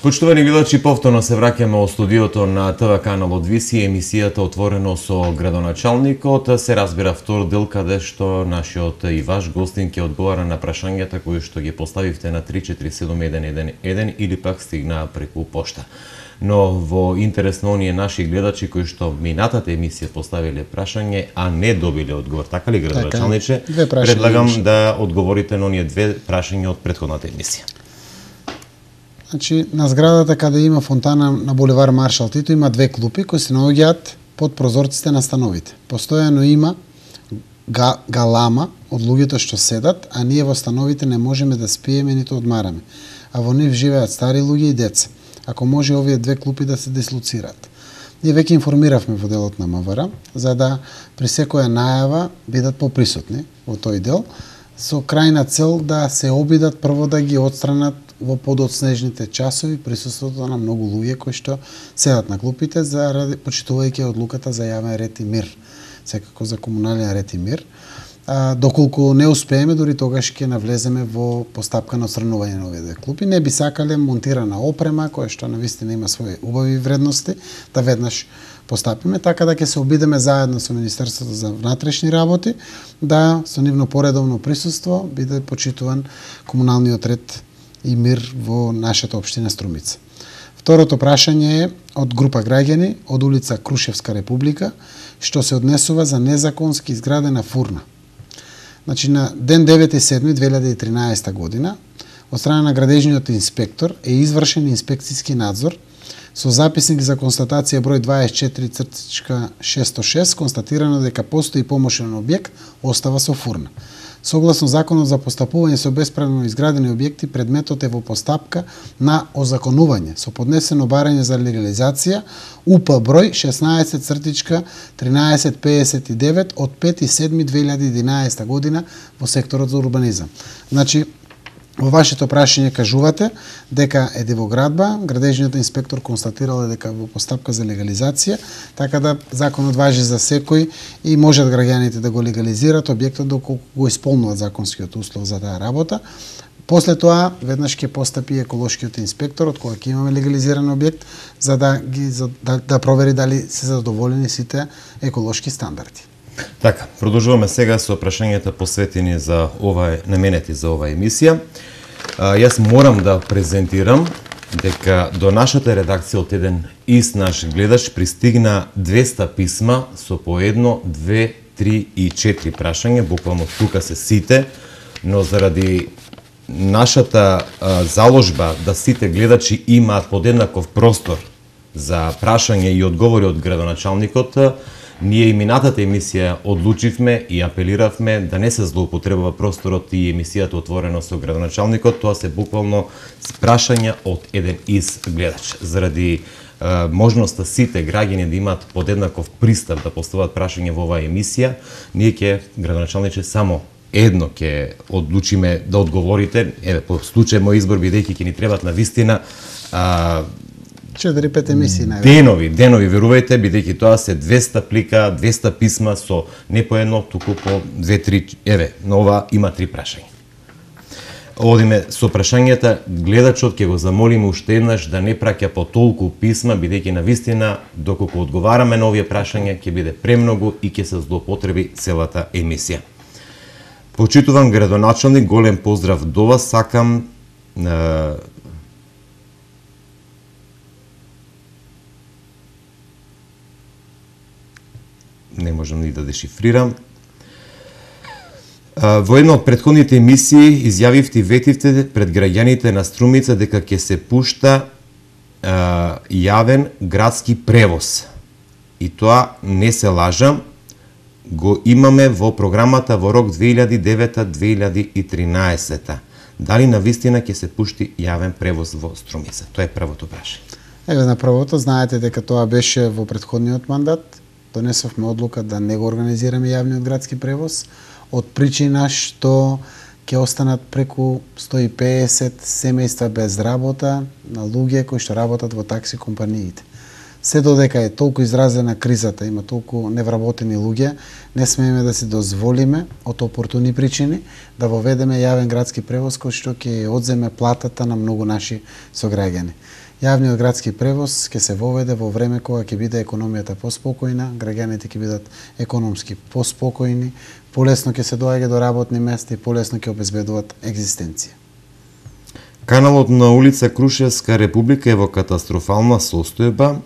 Почитувани гледачи, повторно се враќаме во студиото на ТВ каналот Виси, емисијата Отворено со градоначалникот. Се разбира втор дел каде што нашиот и ваш гостин ќе одговара на прашањата кои што ги поставивте на три четири седум еден еден еден или пак стигнаа преку пошта. Но во интерес на оние наши гледачи кои што минатата емисија поставиле прашање, а не добиле одговор, така ли, градоначалниче? Така, предлагам да одговорите на оние две прашања од претходната емисија. Значи, на зградата каде има фонтана на булевар Маршал Тито има две клупи кои се наоѓаат под прозорците на становите. Постојано има га, галама од луѓето што седат, а ние во становите не можеме да спиеме ниту одмараме. А во нив живеат стари луѓе и деца. Ако може овие две клупи да се дислоцираат. Ние веќе информиравме во делот на МВР за да при секоја најава бидат поприсутни во тој дел со крајна цел да се обидат прво да ги отстранат во подоцнежните часови присуството на многу луѓе кои што седат на клупите заради почитувајќи одлуката за јавен ред и мир, секако за комунален ред и мир. А, доколку не успееме, дури тогаш ќе навлеземе во постапка на отстранување на овие две клупи. Не би сакале монтирана опрема која што навистина има своји убави вредности да веднаш постапиме, така да ќе се обидеме заедно со Министерството за внатрешни работи да со нивно поредовно присуство биде почитуван комуналниот ред и мир во нашата општина Струмица. Второто прашање е од група граѓани од улица Крушевска Република, што се однесува за незаконски изградена фурна. Значи, на ден девети седми две илјади и тринаесета година, од страна на градежниот инспектор е извршен инспекцијски надзор со записник за констатација број дваесет и четири шестоста и шест, констатирано дека постои помошен објект, остава со фурна. Согласно Законот за постапување со бесправно изградени објекти, предметот е во постапка на озаконување со поднесено барање за легализација У П број шеснаесет тринаесет пеесет и девет од пети седми две илјади и единаесета година во секторот за урбанизам. Значи, во вашето прашање кажувате дека е дивоградба, градежниот инспектор констатирал дека во постапка за легализација, така да законот важи за секој и можат граѓаните да го легализираат објектот доколку го исполнуваат законскиот услов за таа работа. После тоа веднаш ќе постапи еколошкиот инспектор од кога ќе имаме легализиран објект за да ги за, да, да провери дали се задоволени сите еколошки стандарди. Така, продолжуваме сега со прашањата посветени за ова наменети за оваа емисија. А, јас морам да презентирам дека до нашата редакција од еден ист наш гледач пристигна двеста писма со по едно, две, три и четири прашања, буквално тука се сите, но заради нашата а, заложба да сите гледачи имаат подеднаков простор за прашање и одговори од градоначалникот, ние и минатата емисија одлучивме и апелиравме да не се злоупотребува просторот и емисијата Отворено со градоначалникот, тоа се буквално прашања од еден ист гледач. Заради е, можноста сите граѓани да имаат подеднаков пристап да постават прашање во оваа емисија, ние ќе, градоначалниче, само едно ќе одлучиме да одговорите, еве, по случај мој избор, бидејќи ќе ни требат на вистина а, четири пет емисии највеќе. Денови, денови, верувајте, бидејќи тоа се двеста плика, двеста писма со не по едно, туку по две три, еве, на ова има три прашања. Одиме со прашањата, гледачот ќе го замолиме уште еднаш да не праќа по толку писма, бидејќи на вистина, доколку одговараме на овие прашања, ќе биде премногу и ќе се злоупотреби целата емисија. Почитуван градоначалник, голем поздрав до вас, сакам е, не можам ни да дешифрирам. Во една од претходните емисии изјавивте и ветивте пред граѓаните на Струмица дека ќе се пушта а, јавен градски превоз. И тоа не се лажам, го имаме во програмата во рок две илјади и девета до две илјади и тринаесета. Дали навистина ќе се пушти јавен превоз во Струмица? Тоа е првото прашање. Еве на првото, знаете дека тоа беше во претходниот мандат. Донесовме одлука да не го организираме јавниот градски превоз од причина што ќе останат преку сто и песет семејства без работа на луѓе кои што работат во такси компаниите. Се додека е толку изразена кризата, има толку невработени луѓе, не смееме да си дозволиме од опортуни причини да воведеме јавен градски превоз кој што ќе одземе платата на многу наши сограѓани. Јавниот градски превоз ќе се воведе во време кога ќе биде економијата поспокојна, граѓаните ќе бидат економски поспокојни, полесно ќе се доаѓа до работни места и полесно ќе обезбедуваат екзистенција. Каналот на улица Крушевска република е во катастрофална состојба,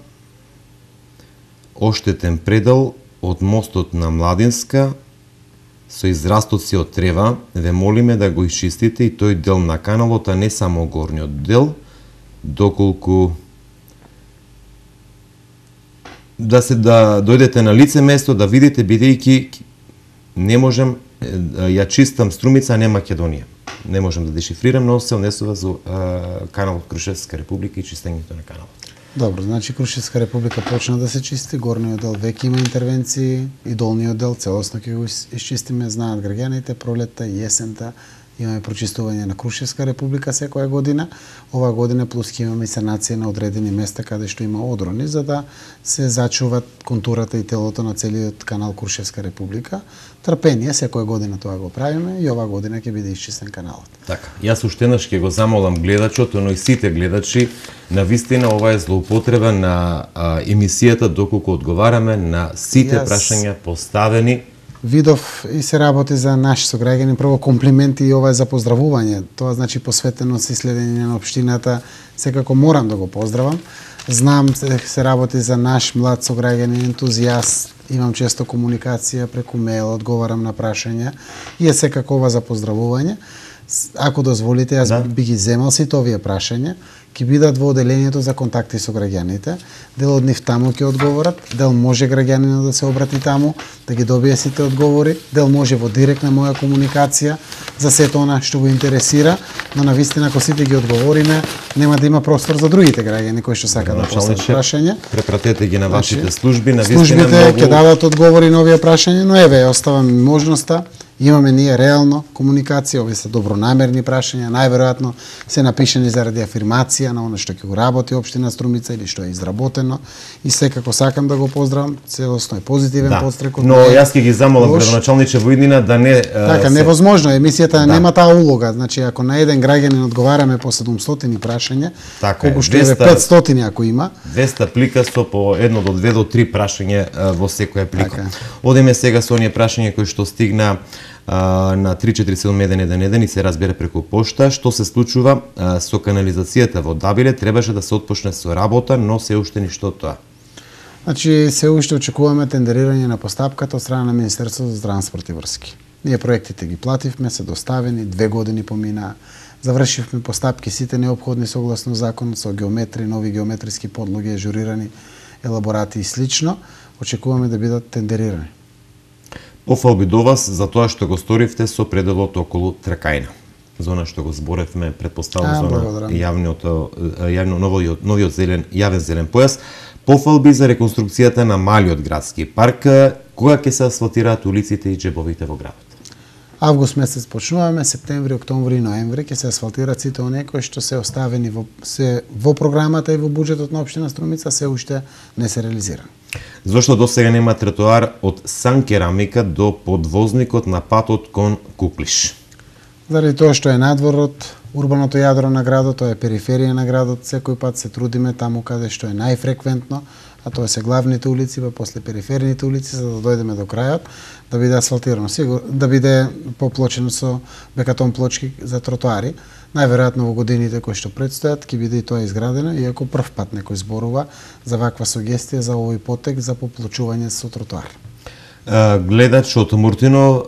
оштетен предел од мостот на Младинска со израстоци од трева. Ве молиме да го исчистите и тој дел на каналот, а не само горниот дел, доколку да се да дојдете на лице место да видите, бидејќи не можем, ја чистам Струмица, не Македонија. Не можем да дешифрирам, но се однесува за каналот Крушевска република и чистењето на каналот. Добро, значи Крушевска република почна да се чисти, горниот дел веќе има интервенции и долниот дел целосно ќе го исчистиме, знаат граѓаните, пролетта и есента имаме прочистување на Крушевска република секоја година. Оваа година плюс ќе имаме и санација на одредени места каде што има одрони, за да се зачуват контурата и телото на целиот канал Крушевска република. Трпение, секоја година тоа го правиме и оваа година ќе биде исчистен каналот. Така, јас уште еднаш ќе го замолам гледачот, но и сите гледачи, на вистина ова е злоупотреба на а, емисијата доколку одговараме на сите јас... прашања поставени. Видов и се работи за наши сограѓани, прво комплименти и ова е за поздравување. Тоа значи посветено се следење на општината, секако морам да го поздравам. Знам се, се работи за наш млад сограѓани, ентузијаст, имам често комуникација преку мејл, одговарам на прашања и е секако ова за поздравување. Ако дозволите, јас да. би ги земал сите овие прашања, ќе бидат во оделението за контакти со граѓаните. Дел од нив таму ќе одговорат, дел може граѓанинот да се обрати таму, да ги добие сите одговори, дел може во директна моја комуникација за сето она што го интересира, но на вистина ако сите ги одговориме, нема да има простор за другите граѓани кои што сакаат да постават прашања. Препратете ги на вашите служби, на вистина службите многу... ќе дадат одговори на овие прашања, но еве, оставам можноста. Имаме ние реално комуникација, овие се добронамерни прашања, најверојатно се напишани заради афирмација на оно што ќе го работи општина Струмица или што е изработено и секако сакам да го поздравам, целосно е позитивен да. подстрек. Но јас ќе ги замолам градоначалниче во иднина да не Така, се... невозможно, емисијата да. нема таа улога, значи ако на еден граѓанин одговараме по седумстотини прашања, така колку што е петстотини ако има, двеста плика со по едно до две до три прашања во секоја плика. Така. Одеме сега со оние прашања кои што стигна а, на три четири седум еден еден еден и се разбира преку пошта. Што се случува а, со канализацијата во Дабиле? Требаше да се отпочне со работа, но се уште ништо тоа. Значи, се уште очекуваме тендерирање на постапката од страна на Министерството за транспорт и врски. Ние проектите ги плативме, се доставени, две години помина, завршивме постапки сите неопходни согласно законот со геометри, нови геометриски подлоги, ажурирани елаборати и слично. Очекуваме да бидат тендерирани. Пофалби до вас за тоа што го сторивте со пределот околу Тракајна. Зона што го зборевме, предпоставам зона јавниот јавно новиот новиот зелен јавен зелен појас. Пофалби за реконструкцијата на малиот градски парк, кога ќе се асфалтираат улиците и џебовите во градот? Август месец почнуваме, септември, октомври и ноември ќе се асфалтираат сите оние кои што се оставени во се во програмата и во буџетот на општина Струмица, се уште не се реализира. Зошто досега нема тротоар од Сан Керамика до подвозникот на патот кон Куклиш? Заради тоа што е надвор од урбаното јадро на градот, тоа е периферија на градот, секој пат се трудиме таму каде што е најфреквентно, а тоа се главните улици, па после периферните улици, за да дојдеме до крајот, да биде асфалтирано, сигур, да биде поплочено со бекатон плочки за тротоари. Најверојатно во годините кои што предстојат ќе биде и тоа изградено, иако прв пат некој зборува за ваква сугестија за овој потек за поплочување со тротоар. Гледач од Муртино,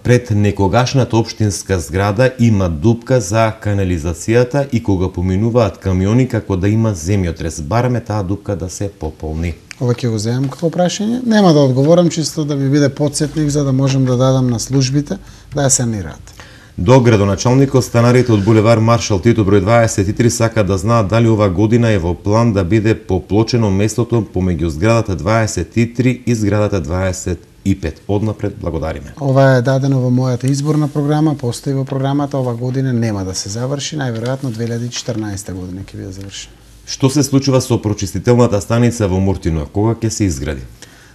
пред некогашната општинска зграда има дупка за канализацијата и кога поминуваат камиони како да има земјотрес. Бараме таа дупка да се пополни. Ова ќе го земам како прашање. Нема да одговорам, чисто да ми биде потсетник за да можем да дадам на службите да ја санираат. До градоначалникот, станарите од булевар Маршал Тито број дваесет и три сака да знаат дали ова година е во план да биде поплочено местото помеѓу зградата дваесет и три и зградата дваесет и пет. Однапред благодариме. Ова е дадено во мојата изборна програма, постои во програмата, ова година нема да се заврши, најверојатно две илјади и четрнаесета година ќе биде завршена. Што се случува со прочистителната станица во Муртино? Кога ќе се изгради?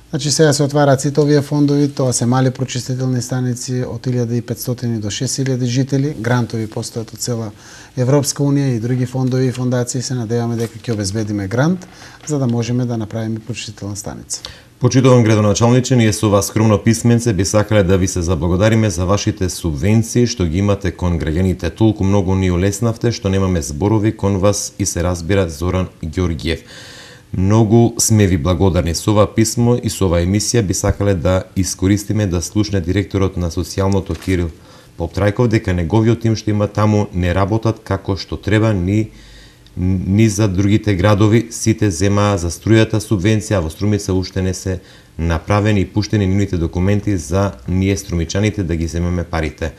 Значи сега се отвараат сите овие фондови, тоа се мали прочистителни станици од илјада и петстотини до шест илјади жители, грантови постојат од цела Европска унија и други фондови и фондации, се надеваме дека ќе обезбедиме грант за да можеме да направиме прочистителна станица. Почитуван градоначалниче, ние со ова скромно писменце би сакале да ви се заблагодариме за вашите субвенции што ги имате кон граѓаните. Толку многу ни олеснавте што немаме зборови кон вас и се разбира Зоран Ѓорѓиев. Многу сме ви благодарни. Со ова писмо и со ова емисија би сакале да искористиме да слушне директорот на социјалното Кирил Поптрајков дека неговиот тим што има таму не работат како што треба ни ни за другите градови, сите земаа за струјата субвенција, а во Струмица уште не се направени и пуштени нивните документи за ние струмичаните да ги земеме парите.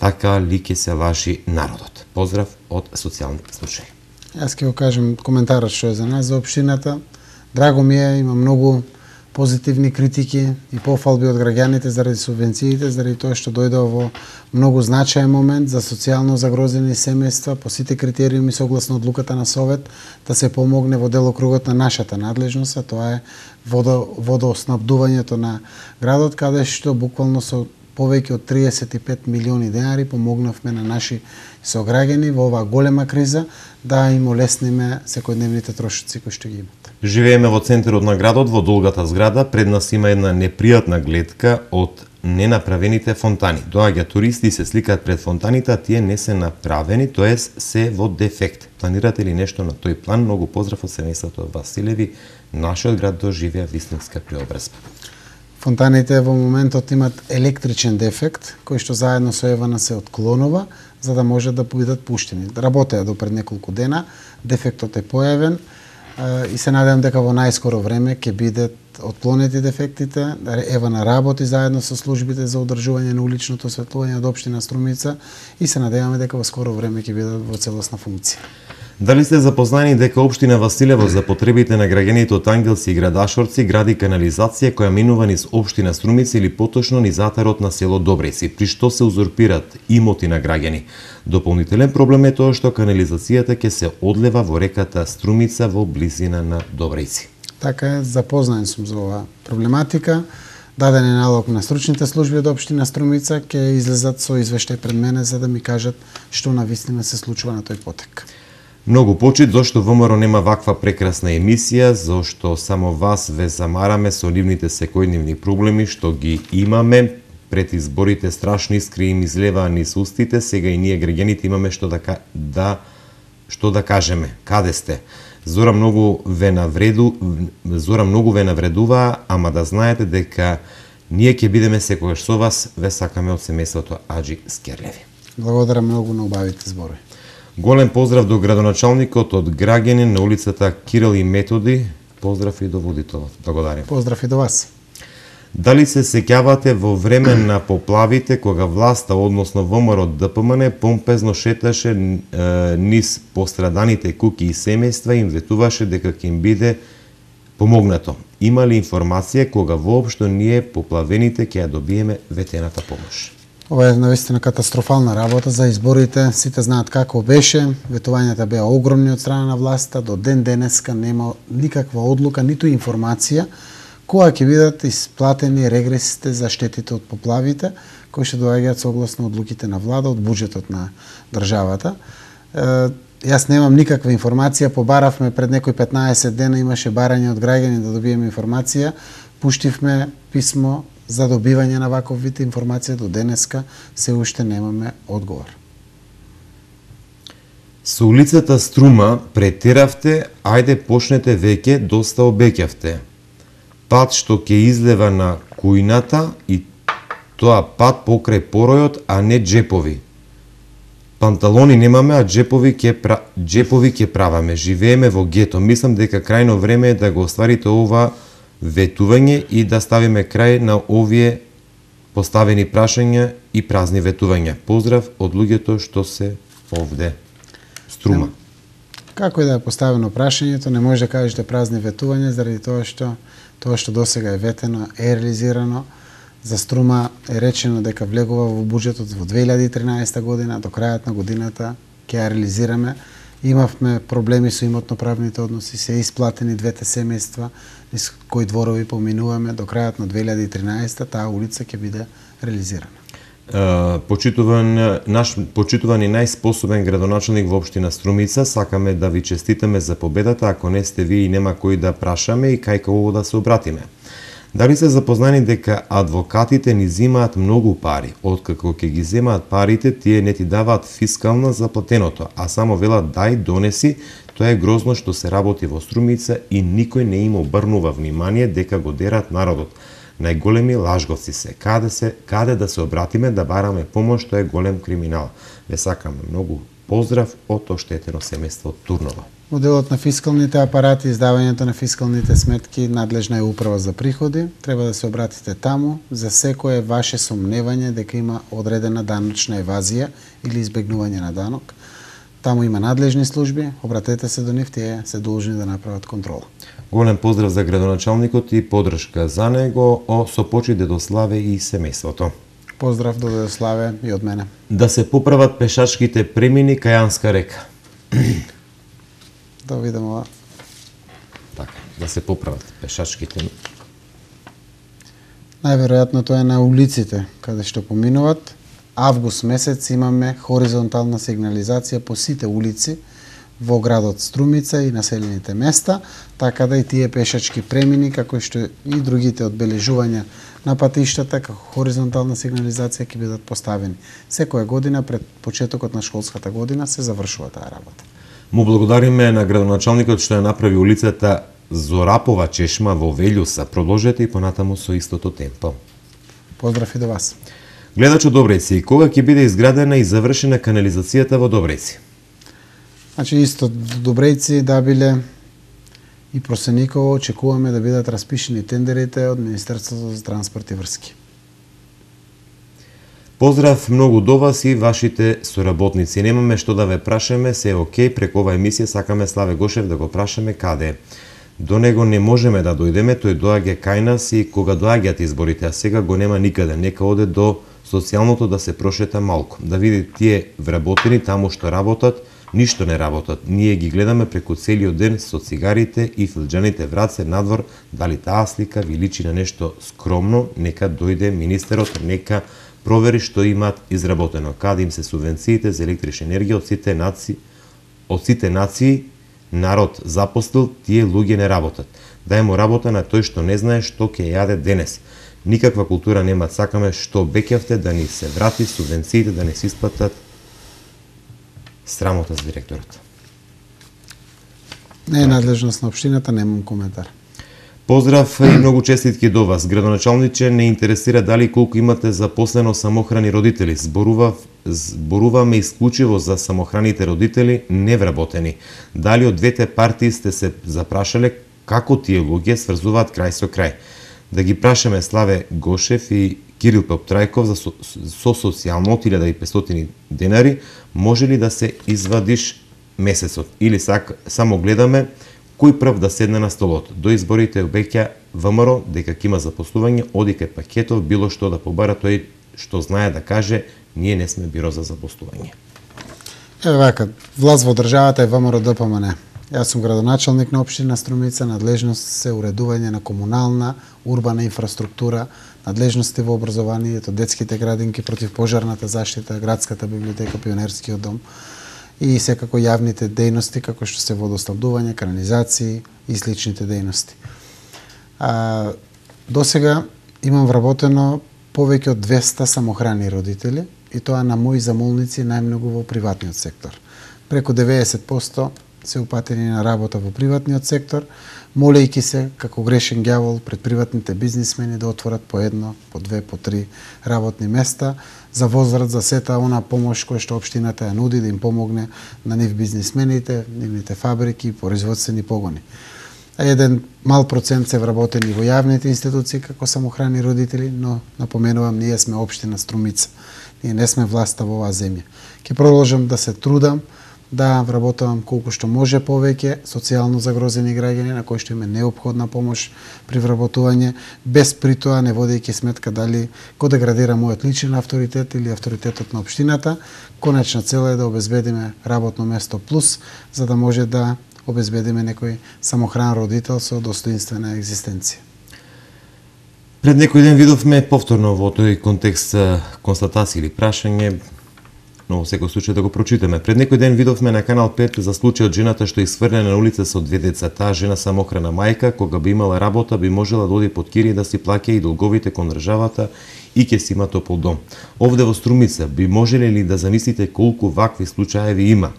Така ли ќе се лажи народот? Поздрав од социјални случаи. Јас ќе го кажем коментарот што е за нас, за општината. Драго ми е, има многу позитивни критики и пофалби од граѓаните заради субвенциите, заради тоа што дојде во многу значаен момент за социјално загрозени семејства по сите критериуми согласно одлуката на Совет да се помогне во делокругот на нашата надлежност, а тоа е водо, водоснабдувањето на градот, каде што буквално со повеќе од триесет и пет милиони денари помогнавме на наши сограѓани во оваа голема криза да им олесниме секојдневните трошоци кои што ги имат. Живееме во центарот на градот, во долгата зграда, пред нас има една непријатна гледка од ненаправените фонтани. Доаѓа туристи и се сликаат пред фонтаните, а тие не се направени, тоест се во дефект. Планирате ли нешто на тој план? Многу поздрав од семејството Василеви. Нашиот град доживеа вистинска преобразба. Фонтаните во моментот имат електричен дефект, кој што заедно со Евана се отклонува, за да може да бидат пуштени. Работеа до пред неколку дена, дефектот е појавен и се надевам дека во најскоро време ќе бидат отклонети дефектите. Евана работи заедно со службите за одржување на уличното осветлување од општина Струмица и се надеваме дека во скоро време ќе бидат во целосна функција. Дали сте запознани дека општина Василево за потребите на граѓаните од Ангелци и Градашорци гради канализација која минува низ општина Струмица или поточно низ атарот на село Добријци, при што се узурпират имоти на граѓани? Дополнителен проблем е тоа што канализацијата ќе се одлева во реката Струмица во близина на Добријци. Така е, запознаен сум за оваа проблематика. Даден е налог на стручните служби од општина Струмица, ќе излезат со извештај пред мене за да ми кажат што навистина се случува на тој потек. Многу почит зашто ВМРО нема ваква прекрасна емисија, зашто само вас ве замараме со нивните секојдневни проблеми што ги имаме. Пред изборите страшно искри им излеваа низ устите, сега и ние граѓаните имаме што да, да што да кажеме. Каде сте? Зора многу ве навреду, Зора многу ве навредуваа, ама да знаете дека ние ќе бидеме секогаш со вас, ве сакаме од семејството Аџи Скерлеви. Благодарам многу на убавите зборови. Голем поздрав до градоначалникот од граѓанин на улицата Кирил и Методи. Поздрав и до водителот. Благодарам. Поздрав и до вас. Дали се сеќавате во време на поплавите кога власта, односно ВМРО ДПМН, помпезно шеташе е, низ постраданите куќи и семејства и им ветуваше дека ќе им биде помогнато? Има ли информација кога воопшто ние поплавените ќе ја добиеме ветената помош? Ова е навистина катастрофална работа за изборите. Сите знаат како беше. Ветувањата беа огромни од страна на власта. До ден денеска нема никаква одлука, ниту информација кога ќе бидат исплатени регресите за штетите од поплавите, кои ще доаѓаат согласно одлуките на влада, од буџетот на државата. Е, јас немам никаква информација, побаравме пред некои петнаесет дена, имаше барање од граѓани да добиеме информација, пуштивме писмо за добивање на ваков вид информација, до денеска се уште немаме одговор. Со улицата Струма претеравте, ајде почнете веќе, доста обеќавте. Пат што ќе излева на кујната и тоа пат покрај поројот, а не джепови. Панталони немаме, а джепови ќе пра... джепови ќе праваме. Живееме во гето. Мислам дека крајно време е да го остварите ова ветување и да ставиме крај на овие поставени прашања и празни ветувања. Поздрав од луѓето што се овде. Струма. Како и да е поставено прашањето, не може да кажете празни ветувања заради тоа што тоа што досега е ветено е реализирано. За струма е речено дека влегува во буџетот во две илјади и тринаесетта година, до крајот на годината ќе ја реализираме. Имавме проблеми со имотно-правните односи, се исплатени двете семејства, низ кои дворови поминуваме, до крајот на две илјади и тринаесетта таа улица ќе биде реализирана. Uh, почитуван наш почитуван и најспособен градоначалник во општина Струмица, сакаме да ви честитаме за победата, ако не сте ви и нема кој да прашаме и кај кого да се обратиме. Дали се запознани дека адвокатите ни земаат многу пари, откако ќе ги земаат парите, тие не ти даваат фискална за платеното, а само велат дај, донеси, тоа е грозно што се работи во Струмица и никој не им обрнува внимание дека го дерат народот. Најголеми лажговци се. Каде се, каде да се обратиме да бараме помош, тоа е голем криминал. Ве сакаме многу поздрав од оштетено семејство од Турново. Моделот на фискалните апарати, издавањето на фискалните сметки, надлежна е управа за приходи. Треба да се обратите таму за секое ваше сомневање дека има одредена даночна евазија или избегнување на данок. Таму има надлежни служби, обратете се до нив, тие се должни да направат контрола. Голем поздрав за градоначалникот и поддршка за него, о со почит Дедославе и семејството. Поздрав до Дедославе и од мене. Да се поправат пешачките премини кај Јанска река. Да видам ова. Така, да се поправат пешачките. Најверојатно тоа е на улиците каде што поминуват. Август месец имаме хоризонтална сигнализација по сите улици во градот Струмица и населените места, така да и тие пешачки премини, како што и другите одбележувања на патиштата, како хоризонтална сигнализација ќе бидат поставени. Секоја година пред почетокот на школската година се завршува таа работа. Му благодариме на градоначалникот што ја направи улицата Зорапова чешма во Велјуса. Продолжете и понатаму со истото темпо. Поздрав и до вас. Гледач од Добрејци, кога ќе биде изградена и завршена канализацијата во Добрејци? Значи, исто Добрејци, Дабиле и Просениково очекуваме да бидат распишени тендерите од Министерството за транспорт и врски. Поздрав многу до вас и вашите соработници. Немаме што да ве прашаме, се е окей, преку ова емисија сакаме Славе Гошев да го прашаме каде. До него не можеме да дојдеме, тој доаѓа кај нас и кога доаѓаат изборите, а сега го нема никаде. Нека оде до социјалното да се прошета малку, да види тие вработени таму што работат, ништо не работат. Ние ги гледаме преку целиот ден со цигарите и филџаните враце надвор, дали таа слика ви личи на нешто скромно, нека дојде министерот, нека провери што имаат изработено, каде им се субвенциите за електрична енергија од сите нации, од сите нации народ запостил, тие луѓе не работат. Дај му работа на тој што не знае што ќе јаде денес. Никаква култура нема, сакаме што обеќавте да ни се врати субвенциите, да не се исплатат. Срамота за директорот. Не е надлежност на општината, немам коментар. Поздрав и многу честитки до вас. Градоначалниче, не интересира дали колку имате запослено самохрани родители. Зборува, зборуваме исклучиво за самохраните родители невработени. Дали од двете партии сте се запрашале како тие луѓе сврзуваат крај со крај? Да ги прашаме Славе Гошев и Кирил Пептрајков за со, со социјално од илјада и петстотини денари, може ли да се извадиш месецот? Или сак, само гледаме кој прв да седне на столот. До изборите обеќа ВМРО дека ќе има запослување, оди кај Пакетов, било што да побара, тој што знае да каже, ние не сме биро за запослување. Еве вака, власт во државата е ВМРО Д П М Н. Јас сум градоначалник на општина Струмица, надлежност се уредување на комунална, урбана инфраструктура, надлежности во образованието, детските градинки, противпожарната заштита, градската библиотека, пионерскиот дом и секако јавните дејности, како што се водоснабдување, канализации и сличните дејности. А, до сега имам вработено повеќе од двеста самохрани родители и тоа на мои замолници најмногу во приватниот сектор. Преку деветдесет проценти се упатени на работа во приватниот сектор, молејќи се како грешен ѓавол пред приватните бизнисмени да отворат по едно, по две, по три работни места за возврат за сета она помош која што општината ја нуди да им помогне на нив бизнисмените, нивните фабрики и производствени погони. А еден мал процент се вработени во јавните институции како самохрани родители, но напоменувам, ние сме општина Струмица. Ние не сме власта во оваа земја. Ќе продолжам да се трудам да вработувам колку што може повеќе социјално загрозени граѓани на кои што им е неопходна помош при вработување, без при тоа не водејќи сметка дали го деградира мојот личен авторитет или авторитетот на општината. Конечна цел е да обезбедиме работно место плюс, за да може да обезбедиме некој самохран родител со достоинствена екзистенција. Пред некој ден видовме повторно во тој контекст констатација или прашање, но во секој случај да го прочитаме. Пред некој ден видовме на Канал пет за случајот жената што исфрлена на улица со две деца. Таа жена самохрана мајка, кога би имала работа, би можела да оди под кирија да си плаќа и долговите кон државата и ќе си има топол дом. Овде во Струмица би можеле ли да замислите колку вакви случаеви има,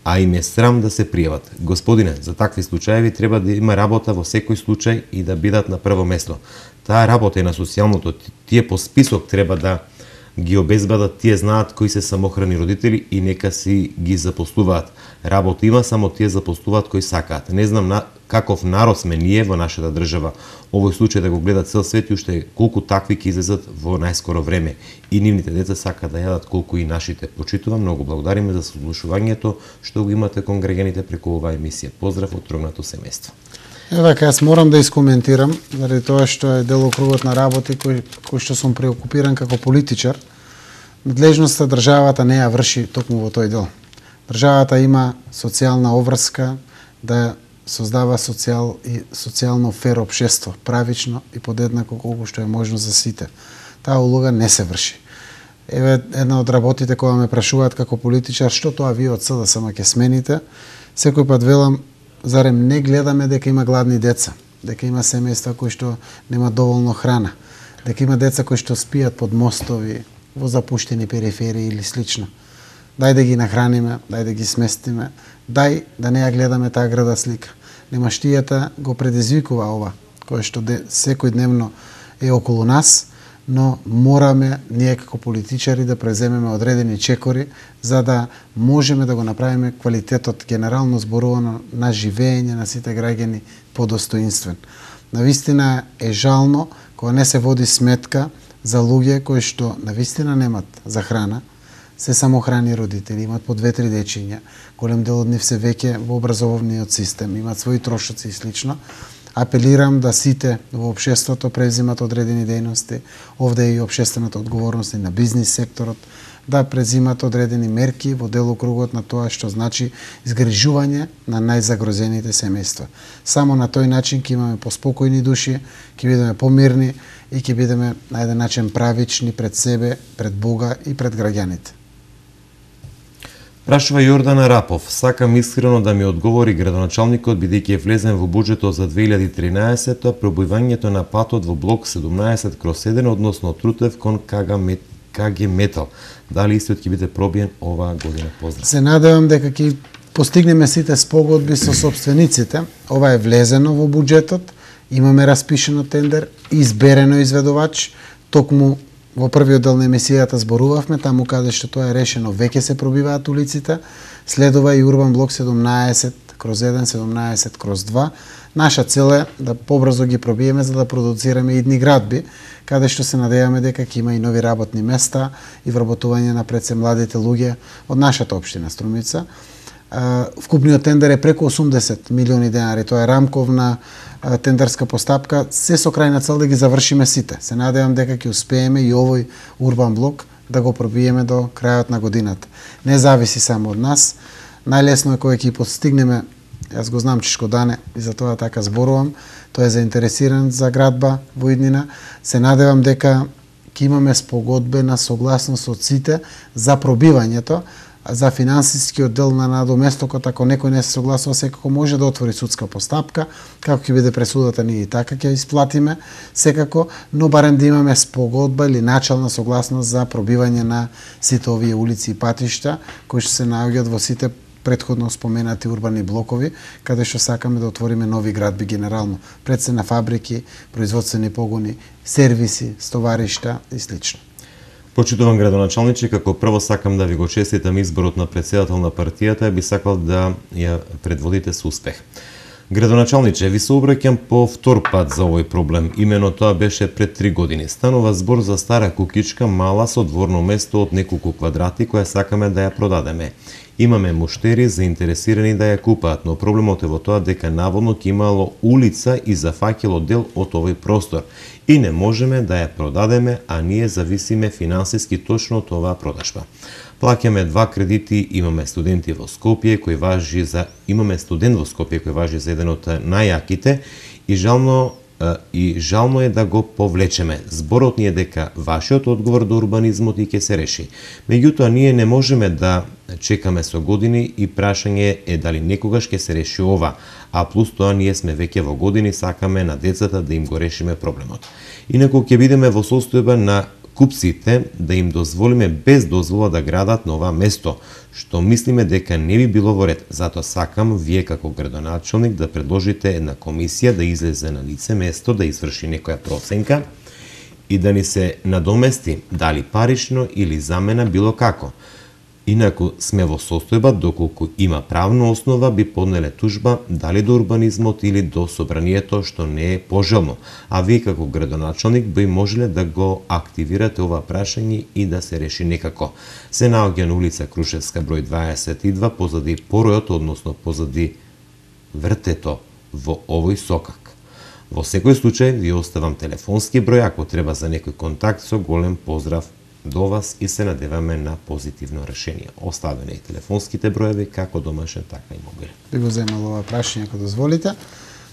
а им е срам да се пријават? Господине, за такви случаеви треба да има работа во секој случај и да бидат на прво место. Таа работа е на социјалното, тие по список треба да ги обезбедат, тие знаат кои се самохрани родители и нека си ги запослуваат. Работа има, само тие запослуваат кои сакаат. Не знам на каков народ сме ние во нашата држава. Овој случај да го гледа цел свет и уште колку такви ќе излезат во најскоро време. И нивните деца сакаат да јадат колку и нашите. Почитувам, многу благодариме за слушувањето што го имате кон граѓаните преку оваа емисија. Поздрав од трогнато семејство. Е, вака, јас морам да искоментирам, заради тоа што е делокругот на работи кој, кој што сум преокупиран како политичар. Надлежноста државата не ја врши токму во тој дел. Државата има социјална обврска да создава социјал и социјално фер општество, правично и подеднако колку што е можно за сите. Таа улога не се врши. Еве една од работите која ме прашуваат како политичар, што тоа вие од СДСМ ќе смените, секој пат велам, зарем не гледаме дека има гладни деца, дека има семејства кои што нема доволно храна, дека има деца кои што спијат под мостови, во запуштени периферии или слично. Дај да ги нахраниме, дај да ги сместиме, дај да не ја гледаме таа града слика. Немаштијата го предизвикува ова, кое што де, секој дневно е околу нас, но мораме ние како политичари да преземеме одредени чекори за да можеме да го направиме квалитетот генерално зборувано на живење на сите граѓани подостоинствен. Навистина е жално кога не се води сметка за луѓе кои што навистина немат за храна, се самохрани родители, имат по две-три дечиња, голем дел од нив се веќе во образовниот систем, имат своји трошоци и слично. Апелирам да сите во општеството презимат одредени дејности, овде е и општествената одговорност на бизнис секторот, да презимат одредени мерки во делокругот на тоа што значи изгрижување на најзагрозените семејства. Само на тој начин ќе имаме поспокојни души, ќе бидеме помирни и ќе бидеме на еден начин правични пред себе, пред Бога и пред граѓаните. Прашува Јордан Рапов, сакам искрено да ми одговори градоначалникот бидејќи е влезен во буџетот за две илјади и тринаесета пробојувањето на патот во блок седумнаесет кроз еден односно Трутев кон ка ге Метал. Дали истиот ќе биде пробиен оваа година? Поздрав. Се надевам дека ќе постигнеме сите спогодби со собствениците. Ова е влезено во буџетот, имаме распишено тендер, изберено изведувач, токму во првиот дел на емисијата зборувавме, таму каде што тоа е решено, веќе се пробиваат улиците, следува и Урбан блок седумнаесет кроз еден, седумнаесет кроз два. Наша цел е да побрзо ги пробиеме за да продуцираме идни градби, каде што се надеваме дека ќе има и нови работни места и вработување на пред се младите луѓе од нашата општина Струмица. Вкупниот тендер е преку осумдесет милиони денари, тоа е рамковна тендерска постапка, се со крајна цел да ги завршиме сите. Се надевам дека ќе успееме и овој урбан блок да го пробиеме до крајот на годината. Не зависи само од нас. Најлесно е кога ќе постигнеме, јас го знам Чишко Дане и за тоа така зборувам, тој е заинтересиран за градба во иднина. Се надевам дека ќе имаме спогодбена согласност од сите за пробивањето, за финансискиот дел на надоместокот, ако некој не се согласува, секако може да отвори судска постапка, како ќе биде пресудата, ние и така ќе исплатиме секако, но барем да имаме спогодба или начална согласност за пробивање на сите овие улици и патишта, кои што се наоѓаат во сите претходно споменати урбани блокови, каде што сакаме да отвориме нови градби генерално, пред се на фабрики, производствени погони, сервиси, стоваришта и слично. Почитуван градоначалниче, како прво сакам да ви го честитам изборот на претседател на партијата и би сакал да ја предводите со успех. Градоначалниче, ви се обраќам по втор пат за овој проблем. Имено тоа беше пред три години. Станува збор за стара кукичка, мала со дворно место од неколку квадрати која сакаме да ја продадеме. Имаме муштери заинтересирани да ја купаат, но проблемот е во тоа дека наводно ќе имало улица и зафаќало дел од овој простор и не можеме да ја продадеме, а ние зависиме финансиски точно од оваа продажба. Плаќаме два кредити, имаме студенти во Скопје кој важи за имаме студент во Скопје кој важи за еден од најаките и жално и жално е да го повлечеме. Зборот ни е дека вашиот одговор до урбанизмот и ќе се реши. Меѓутоа ние не можеме да чекаме со години и прашање е дали некогаш ќе се реши ова, а плюс тоа ние сме веќе во години, сакаме на децата да им го решиме проблемот. Инаку ќе бидеме во состојба на купците да им дозволиме без дозвола да градат на ова место, што мислиме дека не би било во ред. Затоа сакам вие како градоначалник да предложите една комисија да излезе на лице место, да изврши некоја проценка и да ни се надомести дали парично или замена било како. Инаку сме во состојба, доколку има правна основа, би поднеле тужба дали до урбанизмот или до собранието, што не е пожелно. А вие како градоначалник би можеле да го активирате ова прашање и да се реши некако. Се наоѓа на улица Крушевска број дваесет и два, позади поројот, односно позади вртето во овој сокак. Во секој случај ви оставам телефонски број, ако треба за некој контакт, со голем поздрав до вас и се надеваме на позитивно решение. Оставени и телефонските броеви како домашен, така и мобилен. Би го земал ова прашање, ако дозволите.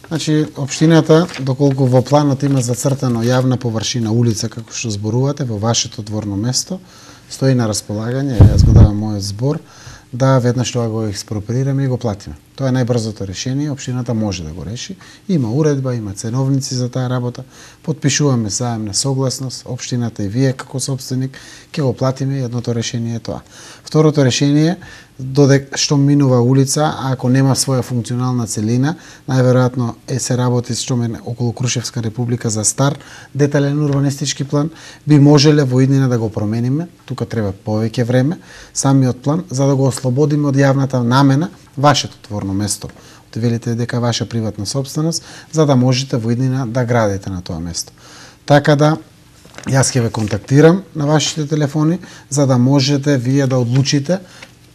Значи, општината, доколку во планот има зацртано јавна површина улица, како што зборувате, во вашето дворно место, стои на располагање, јас го давам мојот збор, да веднаш тоа го експроприираме и го платиме. Тоа е најбрзото решение, општината може да го реши. Има уредба, има ценовници за таа работа, потпишуваме заемна согласност, општината и вие како собственик ќе го платиме, едното решение е тоа. Второто решение, додека што минува улица, а ако нема своја функционална целина, најверојатно е се работи што мене околу Крушевска република за стар детален урбанистички план, би можеле во иднина да го промениме, тука треба повеќе време, самиот план за да го ослободиме од јавната намена вашето дворно место. Велите дека ваша приватна собственост, за да можете во иднина да градите на тоа место. Така да јас ќе ве контактирам на вашите телефони за да можете вие да одлучите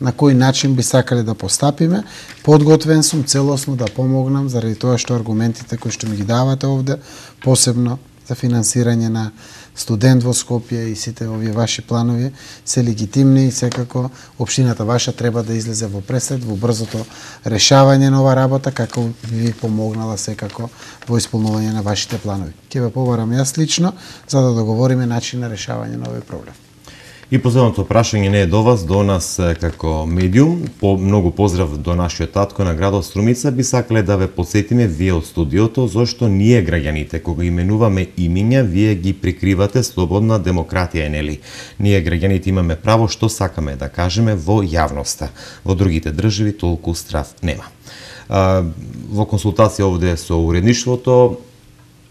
на кој начин би сакале да постапиме. Подготвен сум целосно да помогнам заради тоа што аргументите кои што ми ги давате овде, посебно за финансирање на студент во Скопје и сите овие ваши планови се легитимни и секако општината ваша треба да излезе во пресед во брзото решавање на ова работа како ви помогнала секако во исполнување на вашите планови. Ќе ве побарам јас лично за да договориме начин на решавање на овој проблем. И последното прашање не е до вас, до нас како медиум. По многу поздрав до нашиот татко на градот Струмица. Би сакале да ве подсетиме вие од студиото зошто ние граѓаните кога именуваме имиња, вие ги прикривате. Слободна демократија е, нели? Ние граѓаните имаме право што сакаме да кажеме во јавноста. Во другите држави толку страв нема. А, во консултација овде со уредништвото,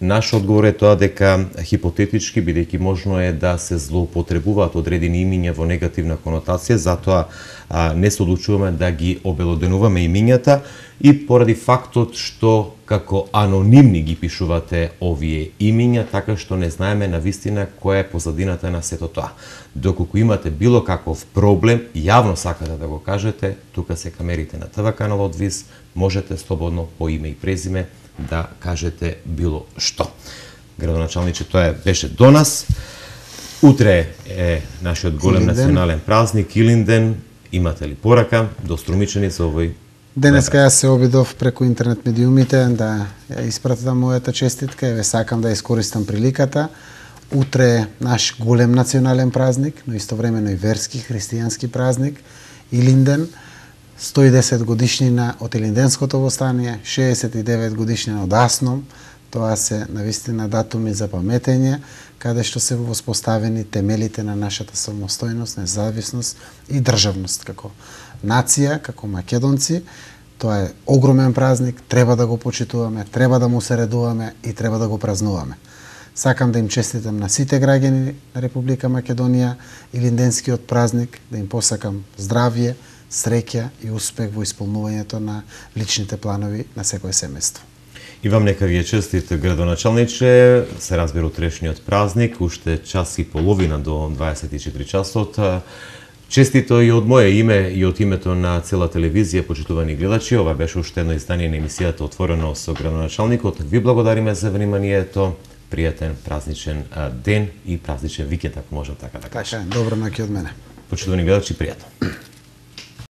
наш одговор е тоа дека хипотетички, бидејќи можно е да се злоупотребуваат одредени имиња во негативна конотација, затоа а, не се одлучуваме да ги обелоденуваме имињата и поради фактот што како анонимни ги пишувате овие имиња, така што не знаеме на вистина која е позадината на сето тоа. Доколку имате било каков проблем, јавно сакате да го кажете, тука се камерите на ТВ каналот ВИС, можете слободно по име и презиме да кажете било што. Градоначалниче, тоа беше до нас. Утре е нашиот голем Илинден. национален празник Илинден. Имате ли порака до струмичани за овој? Денеска јас се обидов преку интернет медиумите да ја испратам мојата честитка и ве сакам да искористам приликата. Утре е наш голем национален празник, но истовремено и верски, христијански празник, Илинден. сто и десет годишнина од Илинденското востание, шеесет и девет годишнина од Асном. Тоа се навистина датуми за паметење, каде што се воспоставени темелите на нашата самостојност, независност и државност како нација, како македонци. Тоа е огромен празник, треба да го почитуваме, треба да му се редуваме и треба да го празнуваме. Сакам да им честитам на сите граѓани на Република Македонија Илинденскиот празник, да им посакам здравје, среќа и успех во исполнувањето на личните планови на секое семејство. И вам нека ви е честит, градоначалниче, се разбира утрешниот празник, уште час и половина до дваесет и четири часот. Честито и од моје име и од името на цела телевизија, почитувани гледачи, ова беше уште едно издание на емисијата Отворено со градоначалникот. Ви благодариме за вниманието, пријатен празничен ден и празничен викенд, ако можам така да кажам. Така, добро ноќе од мене. Почитувани гледачи, пријатно.